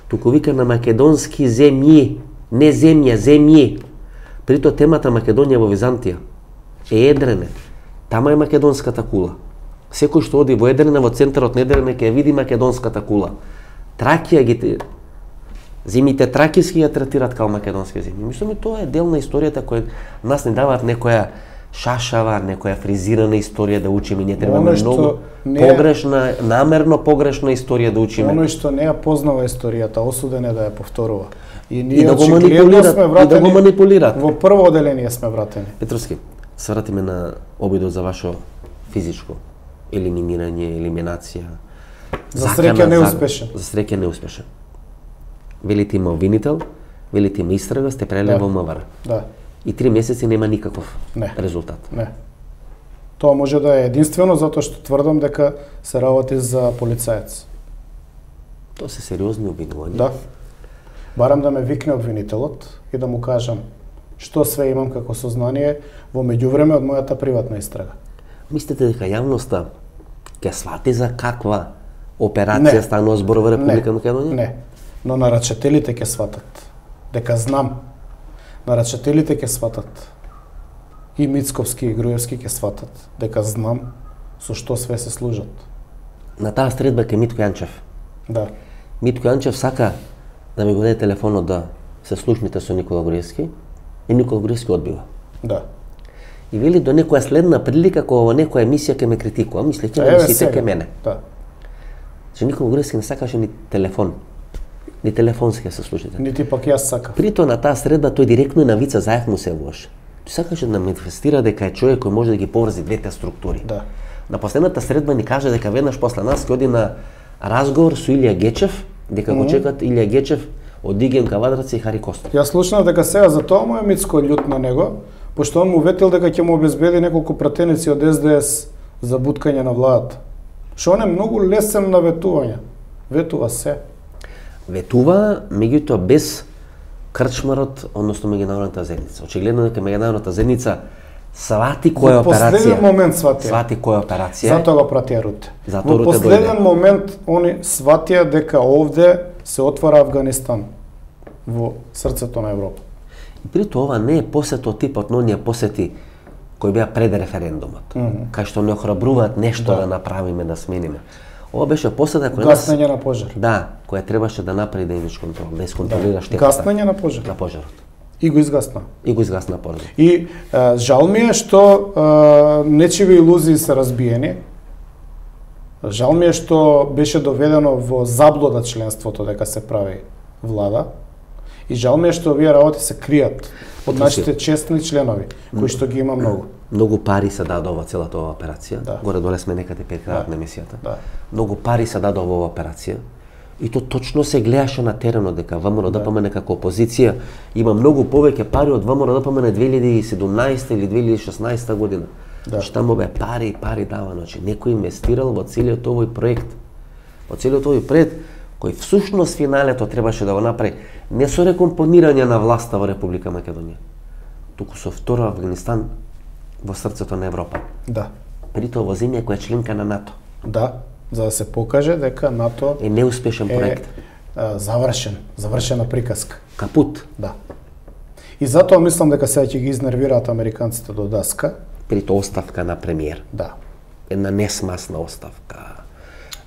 туку вика на македонски земји, не земја, земји. При тоа темата Македонија во Византија е Едрене. Тама е македонската кула. Секој што оди во Едрене, во центарот на Едрене, ќе види македонската кула. Тракија ги земјите тракиски ја третираат као македонски земји. Мислам и тоа е дел на историјата која нас не даваат некоја шашава, некоја фризирана историја да учиме. Ние требаме Оно што многу не е- погрешна, намерно погрешна историја да учиме. Оној што не ја познава историјата, осуден е да ја повторува. И И ние да го очигледно манипулираат, сме и да го вратени манипулираат. во прво оделение сме вратени. Петровски, се вратиме на обидот за ваше физичко елиминирање, елиминација. За Закана, среќа за- неуспешен. За среќа неуспешен. Велите има обвинител, велите има истрага, сте преле Да. во МВР. Да, И три месеци нема никаков Не. резултат. не. Тоа може да е единствено затоа што тврдам дека се работи за полицаец. Тоа се сериозни обвинувања. Да. Барам да ме викне обвинителот и да му кажам што све имам како сознание во меѓувреме од мојата приватна истрага. Мислите дека јавноста ќе свати за каква операција станува збор во Република Македонија? Не, но нарачателите ќе сватат дека знам. Нарачателите ќе сватат. И Мицковски и Груевски ќе сватат дека знам со што све се служат. На таа средба ке Митко Јанчев. Да. Митко Јанчев сака да ми го даде телефонот да се слушните со Никола Груевски и Никола Груевски одбива. Да. И вели до некоја следна прилика кога во некоја емисија ќе ме критикува, мислејќи да мислите ке мене. Да. Че Никола Груевски не сакаше ни телефон. Ни телефонски се слушате. Нити пак јас сакав. Прито на таа средба тој директно и на Вица Заев му се явуваше. Тој сакаше да манифестира дека е човек кој може да ги поврзи двете структури. Да. На последната средба ни кажа дека веднаш после нас ќе оди на разговор со Илија Гечев, дека mm -hmm. го чекат Илија Гечев од Диген Кавадраци и Хари Костов. Јас слушнав дека сега за тоа му е Мицко љут на него, пошто он му ветил дека ќе му обезбеди неколку пратеници од Ес Де Ес за буткање на владата. Што он е многу лесен на ветување. Ветува се. Ветува, меѓутоа без крчмарот, односно меѓународната заедница. Очигледно дека меѓународната заедница свати која операција. Во последен момент свати. Свати која операција. Затоа го пратија Руте. Затоа Во последен момент они сватија дека овде се отвара Афганистан во срцето на Европа. И прито ова не е посет од типот на оние посети кои беа пред референдумот, mm -hmm. кај што не охрабруваат нешто да. да направиме, да смениме. Ова беше посета која гаснење на пожар. Да, која требаше да направи да имаш контрол, да исконтролира да. штетата. Гаснење на пожар. На пожарот. И го изгасна. И го изгасна пожарот. И а, жал ми е што а, нечиви илузии се разбиени. Жал ми е што беше доведено во заблуда членството дека се прави влада. И жал ми е што овие работи се кријат од нашите честни членови, кои што ги има многу. Многу пари се дадоа во целата оваа операција. Да. Горе доле сме некаде пред крајот на емисијата. Да. Многу пари се дадоа во оваа операција. И то точно се гледаше на теренот дека ВМРО-ДПМН како опозиција има многу повеќе пари од ВМРО-ДПМН две илјади и седумнаесета или две илјади и шеснаесета година. Да. Што таму бе пари и пари давано, значи некој инвестирал во целиот овој проект. Во целиот овој проект кој всушност финалето требаше да го направи не со рекомпонирање на власта во Република Македонија, туку со второ Афганистан во срцето на Европа. Да. Притоа во земја која е членка на НАТО. Да, за да се покаже дека НАТО е неуспешен проект. Е а, завршен, завршена приказка. Капут. Да. И затоа мислам дека сега ќе ги изнервираат американците до даска. Прито оставка на премиер. Да. Една несмасна оставка.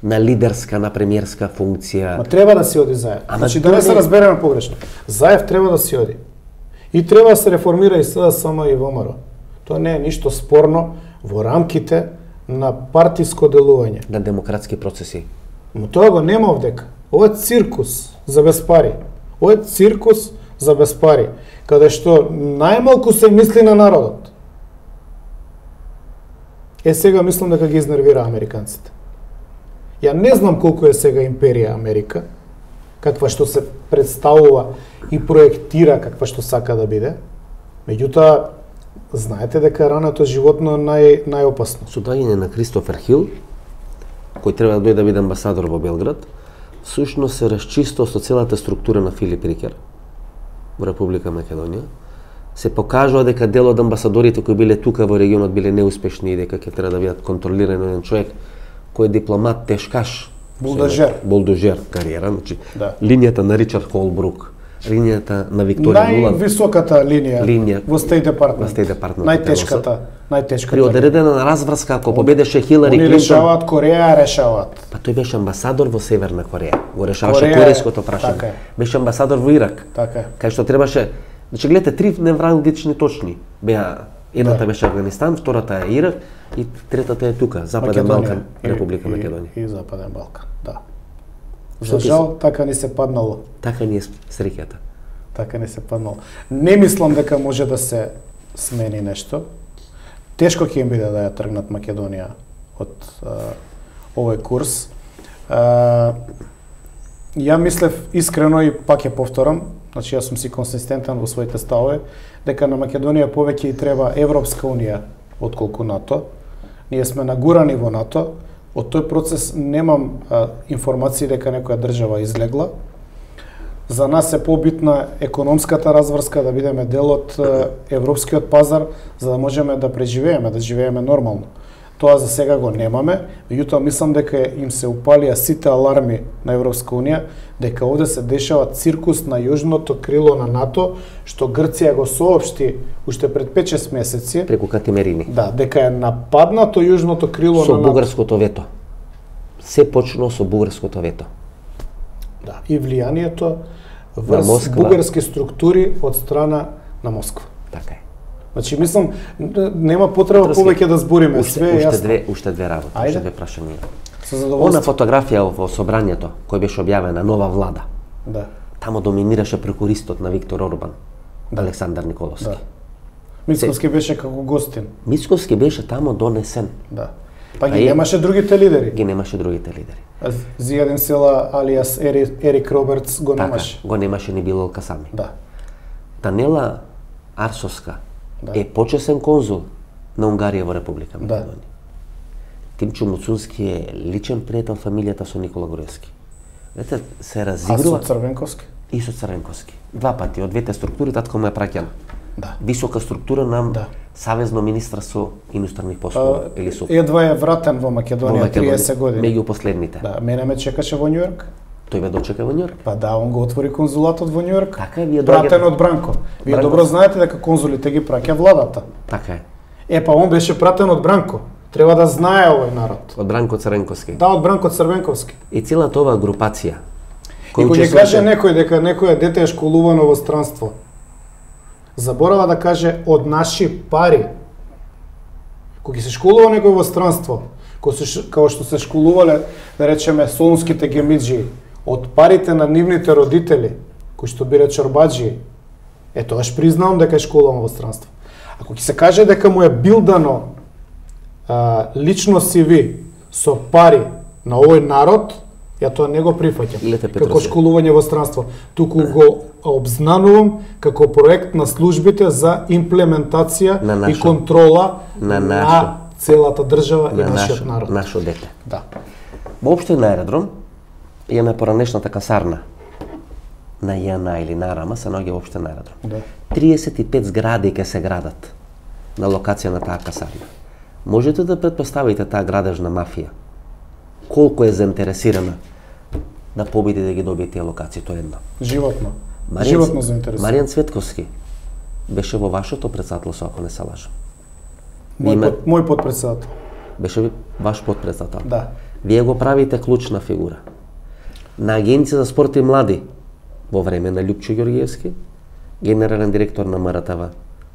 На лидерска, на премиерска функција. Ма треба да си оди Заев. Ама значи да не се разбереме погрешно. Заев треба да си оди. И треба да се реформира и СДСМ и ВМРО. Тоа не е ништо спорно во рамките на партиско делување. На демократски процеси. Но тоа го нема овдека. Ова е циркус за без пари. Ова е циркус за без пари, каде што најмалку се мисли на народот. Е, сега мислам дека ги изнервира американците. Ја не знам колку е сега империја Америка, каква што се представува и проектира каква што сака да биде. Меѓутоа, знаете дека раното животно е нај, најопасно. Со доаѓање на Кристофер Хил, кој треба да дојде да биде амбасадор во Белград, всушност се расчисто со целата структура на Филип Рикер во Република Македонија. Се покажува дека дел од амбасадорите кои биле тука во регионот биле неуспешни и дека ќе треба да бидат контролирани од еден човек кој е дипломат, тешкаш, булдожер, булдожер кариера, значи да. Линијата на Ричард Холбрук, линијата на Викторија Нуланд, највисоката линија, линија во Стейт Департмент, во Стейт Департмент, најтешката, најтешката. При одредена разврска ако победеше Хилари Клинтон, они решаваат, Кореја решаваат. Па тој беше амбасадор во Северна Кореја, го решаваше корејското прашање. Така беше амбасадор во Ирак. Така кај што требаше, значи гледате три невралгични точни беа. Едната да. беше Афганистан, втората е Ирак и третата е тука, Западен Македонија, Балкан, Република и, Македонија. И, и Западен Балкан, да. За жал, така ни се паднало. Така ни е среќата. Така ни се паднало. Не мислам дека може да се смени нешто. Тешко ќе им биде да ја тргнат Македонија од а, овој курс. А, ја мислев искрено и пак ја повторам, значи јас сум си консистентен во своите ставови, дека на Македонија повеќе и треба Европска унија отколку НАТО. Ние сме нагурани во НАТО. Од тој процес немам а, информации дека некоја држава излегла. За нас е побитна економската разврска, да бидеме дел од европскиот пазар, за да можеме да преживееме, да живееме нормално. Тоа за сега го немаме, меѓутоа мислам дека им се упалија сите аларми на Европска унија, дека овде се дешава циркус на јужното крило на НАТО, што Грција го соопшти уште пред пет-шест месеци. Преку Катимерини. Да, дека е нападнато јужното крило со на НАТО. Со бугарското вето. Се почнало со бугарското вето. Да, и влијанието врз бугарски структури од страна на Москва. Така е. Значи, мислам, нема потреба повеќе да збориме, уште, све е уште јасно. две, уште две работи, Ајде. уште две прашања. Со задоволство. Она фотографија во собранието, кој беше објавена, нова влада, Да. тамо доминираше прекуристот на Виктор Орбан, да. Александар Николовски. Да. Мицковски беше како гостин. Мицковски беше тамо донесен. Да. Па ги А е- немаше другите лидери. Ги немаше другите лидери. А Зијадин Села алиас Ери, Ерик Робертс го Така, немаше. го немаше ни Билал Касами. Да. Данела Арсовска Да. е почесен конзул на Унгарија во Република Да. Македонија. Тимчо Муцунски е личен пријател фамилијата со Никола Груевски. Знаете, се А со разигрува Црвенковски? и со Црвенковски. Два пати, од двете структури, татко му е праќан. Да. Висока структура на Да. Савезно министра со иностранни послови А, или со едва е вратен во Македонија, триесет години. меѓу последните. Да, мене ме чекаше во Њујорк. Тој ме дочека во Њујорк. Па да, он го отвори конзулатот во Њујорк. Така е, вие пратен доаѓате- од Бранко. Вие Бранко- добро знаете дека конзулите ги праќа владата. Така е. Е, па он беше пратен од Бранко. Треба да знае овој народ. Од Бранко Црвенковски. Да, од Бранко Црвенковски. И целата оваа групација. И кој кога ќе учествуваше- каже некој дека некој дете е школувано во странство, заборава да каже од наши пари. Кога ќе се школува некој во странство, кој се, као што се школувале, да речеме, солунските гемиджи, од парите на нивните родители, кои што биле чорбаджи, е тоаш признавам дека е школуван во странство. Ако ќе се каже дека му е билдано а, лично си ви со пари на овој народ, ја тоа не го прифаќам Лете како Петросе. школување во странство, туку го обзнанувам како проект на службите за имплементација На и нашо- контрола на на, нашо- целата држава и на нашиот нашо, народ. нашо дете. Да. Воопшто на аеродром имаме поранешната касарна на ЈАНА или на РАМА се наоѓа воопшто на аеродром. Да. триесет и пет згради ќе се градат на локација на таа касарна. Можете да претпоставите таа градежна мафија колку е заинтересирана да победи да ги добие тие локации, тоа е едно. Животно. Маријан- Животно заинтересуван. Маријан Цветковски беше во вашето претседателство, ако не се лажам. Мој, Име- под, мој подпредседател. Беше ви- ваш подпредседател. Да. Вие го правите клучна фигура. На Агенција за спорт и млади во време на Љупчо Ѓорѓиевски, генерален директор на МРТВ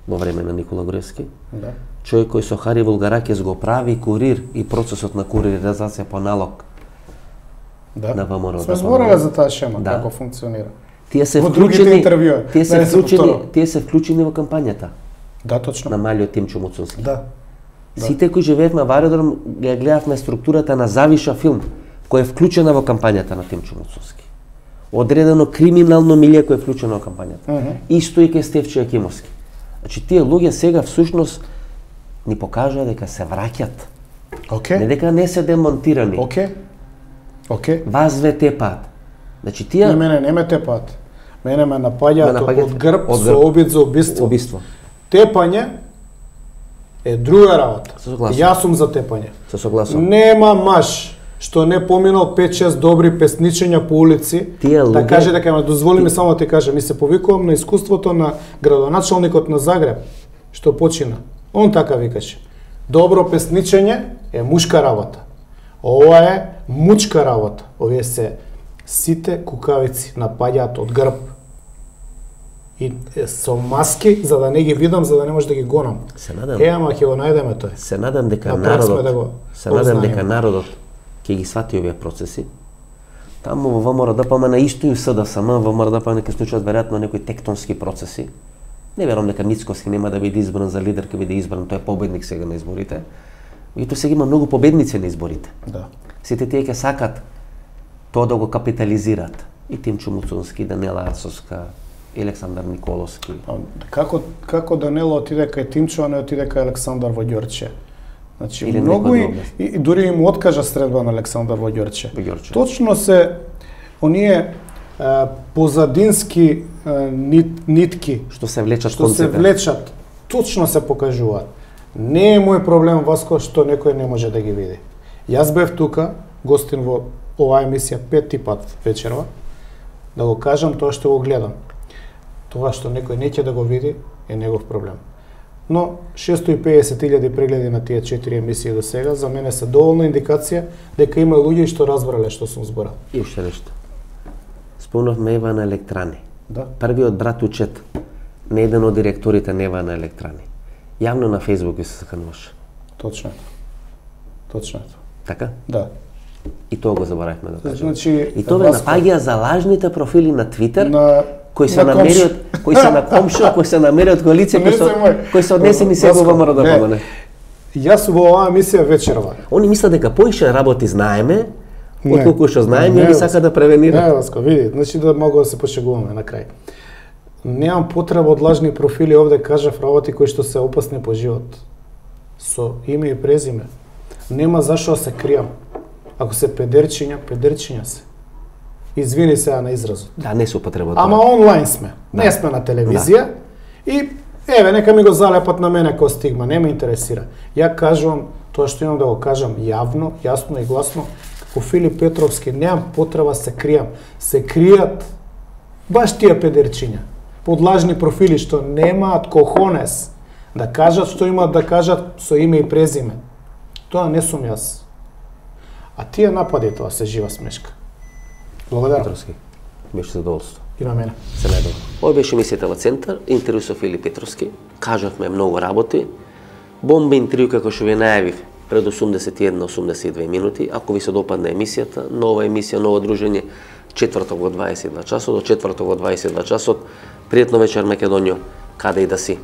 во време на Никола Груевски, Да. човек кој со Хари Вулгаракес го прави курир и процесот на куриризација по налог Да. на ВМРО. Сме да збореле помогне. за таа шема, Да. како функционира. Тие се Во другите вклучени, интервјуи, тие се да не се вклучени, повторувам. тие се вклучени во кампањата Да, точно. на малиот Тимчо Муцунски. Да. Да. Сите кои живеевме во аеродром, ја гледавме структурата на Завиша филм, која е вклучена во кампањата на Тимчо Муцунски. Одредено криминално милје кој е вклучено во кампањата. Мгм. Исто и кај Стефче Јакимовски. Значи, тие луѓе сега всушност ни покажаа дека се враќат. Океј. Не дека не се демонтирани. Океј. Океј. Вас две тепаат. Значи, Не, тие мене не ме тепаат. Мене ме Ме напаѓаат напаѓаат од грб од со грб. обид за убиство. убиство. Тепање е друга работа. Се согласувам. Јас сум за тепање. се согласувам. Нема маж што не поминал пет-шест добри песничења по улици, Тие да луѓе- каже дека ме дозволи ми само да ти кажам, ми се повикувам на искуството на градоначалникот на Загреб, што почина. Он така викаше. Добро песничење е мушка работа. Ова е мучка работа. Овие се сите кукавици напаѓаат од грб. И е, со маски, за да не ги видам, за да не може да ги гонам. Се надам. Е, ама ќе го најдеме тој. Се надам дека На прак сме народот, да го се надам дека познаеме. народот ќе ги свати овие процеси. Таму во ВМРО-ДПМН на исто и у СДСМ, во ВМРО-ДПМН ќе случат веројатно некои тектонски процеси. Не верувам дека Мицковски нема да биде избран за лидер, ќе биде избран, тој е победник сега на изборите. Меѓутоа сега има многу победници на изборите. Да. Сите тие ќе сакат тоа да го капитализираат. И Тимчо Муцунски, Данела Арсовска, и Александар Николовски. А Како, како Данело отиде кај Тимчо, а не отиде кај Александар во Ѓорче? Значи, Или многу некој и, друг. и, и дури им откажа средба на Александар во Ѓорче. Во Ѓорче. Точно се оние позадински нит, нитки Што се влечат што се влечат, точно се покажуваат. Не е мој проблем, Васко, што некој не може да ги види. Јас бев тука, гостин во оваа емисија пети пат вечерва, да го кажам тоа што го гледам. Тоа што некој не ќе да го види е негов проблем. Но шестоста и педесет илјади прегледи на тие четири емисии до сега за мене се доволна индикација дека има луѓе што разбрале што сум зборал. И уште нешто. Спомнавме Ева на Електрани. Да. Првиот брат учет на еден од директорите на Ева на Електрани. Јавно на Фејсбук се сакануваше. Точно е. Точно е. Така? Да. И тоа го заборавме да кажеме. Значи, И тоа ме напаѓа за лажните профили на Твитер, на кои се намери од кои се на комшо, кои се намери од кои лица кои се кои се однесени се во ВМРО да помане. Јас во оваа емисија вечерва. Они мислат дека поише работи знаеме, Не. отколку што знаеме, Не, и сака да превенира. Не, Васко, види, значи да могу да се пошегуваме на крај. Немам потреба од лажни профили, овде кажав работи кои што се опасни по живот. Со име и презиме. Нема зашо да се кријам. Ако се педерчиња, педерчиња се. Извини сега на изразот. Да, не се употреба тоа. Ама онлайн сме. Да. Не сме на телевизија. Да. И еве, нека ми го залепат на мене како стигма, не ме интересира. Ја кажувам тоа што имам да го кажам јавно, јасно и гласно, како Филип Петровски, немам потреба се кријам. Се кријат баш тие педерчиња, под лажни профили што немаат кохонес да кажат што имаат да кажат со име и презиме. Тоа не сум јас. А тие напади, тоа се жива смешка. Благодарам. Петровски. Беше задоволство. И на мене. Се најдобро. Ова беше емисијата во Центар, интервју со Филип Петровски. Кажавме многу работи. Бомба интервју како што ви најавив пред осумдесет и една осумдесет и две минути. Ако ви се допадне емисијата, нова емисија, ново дружење, четврток во дваесет и два часот, до четврток во дваесет и два часот. Пријатно вечер, Македонијо, каде и да си.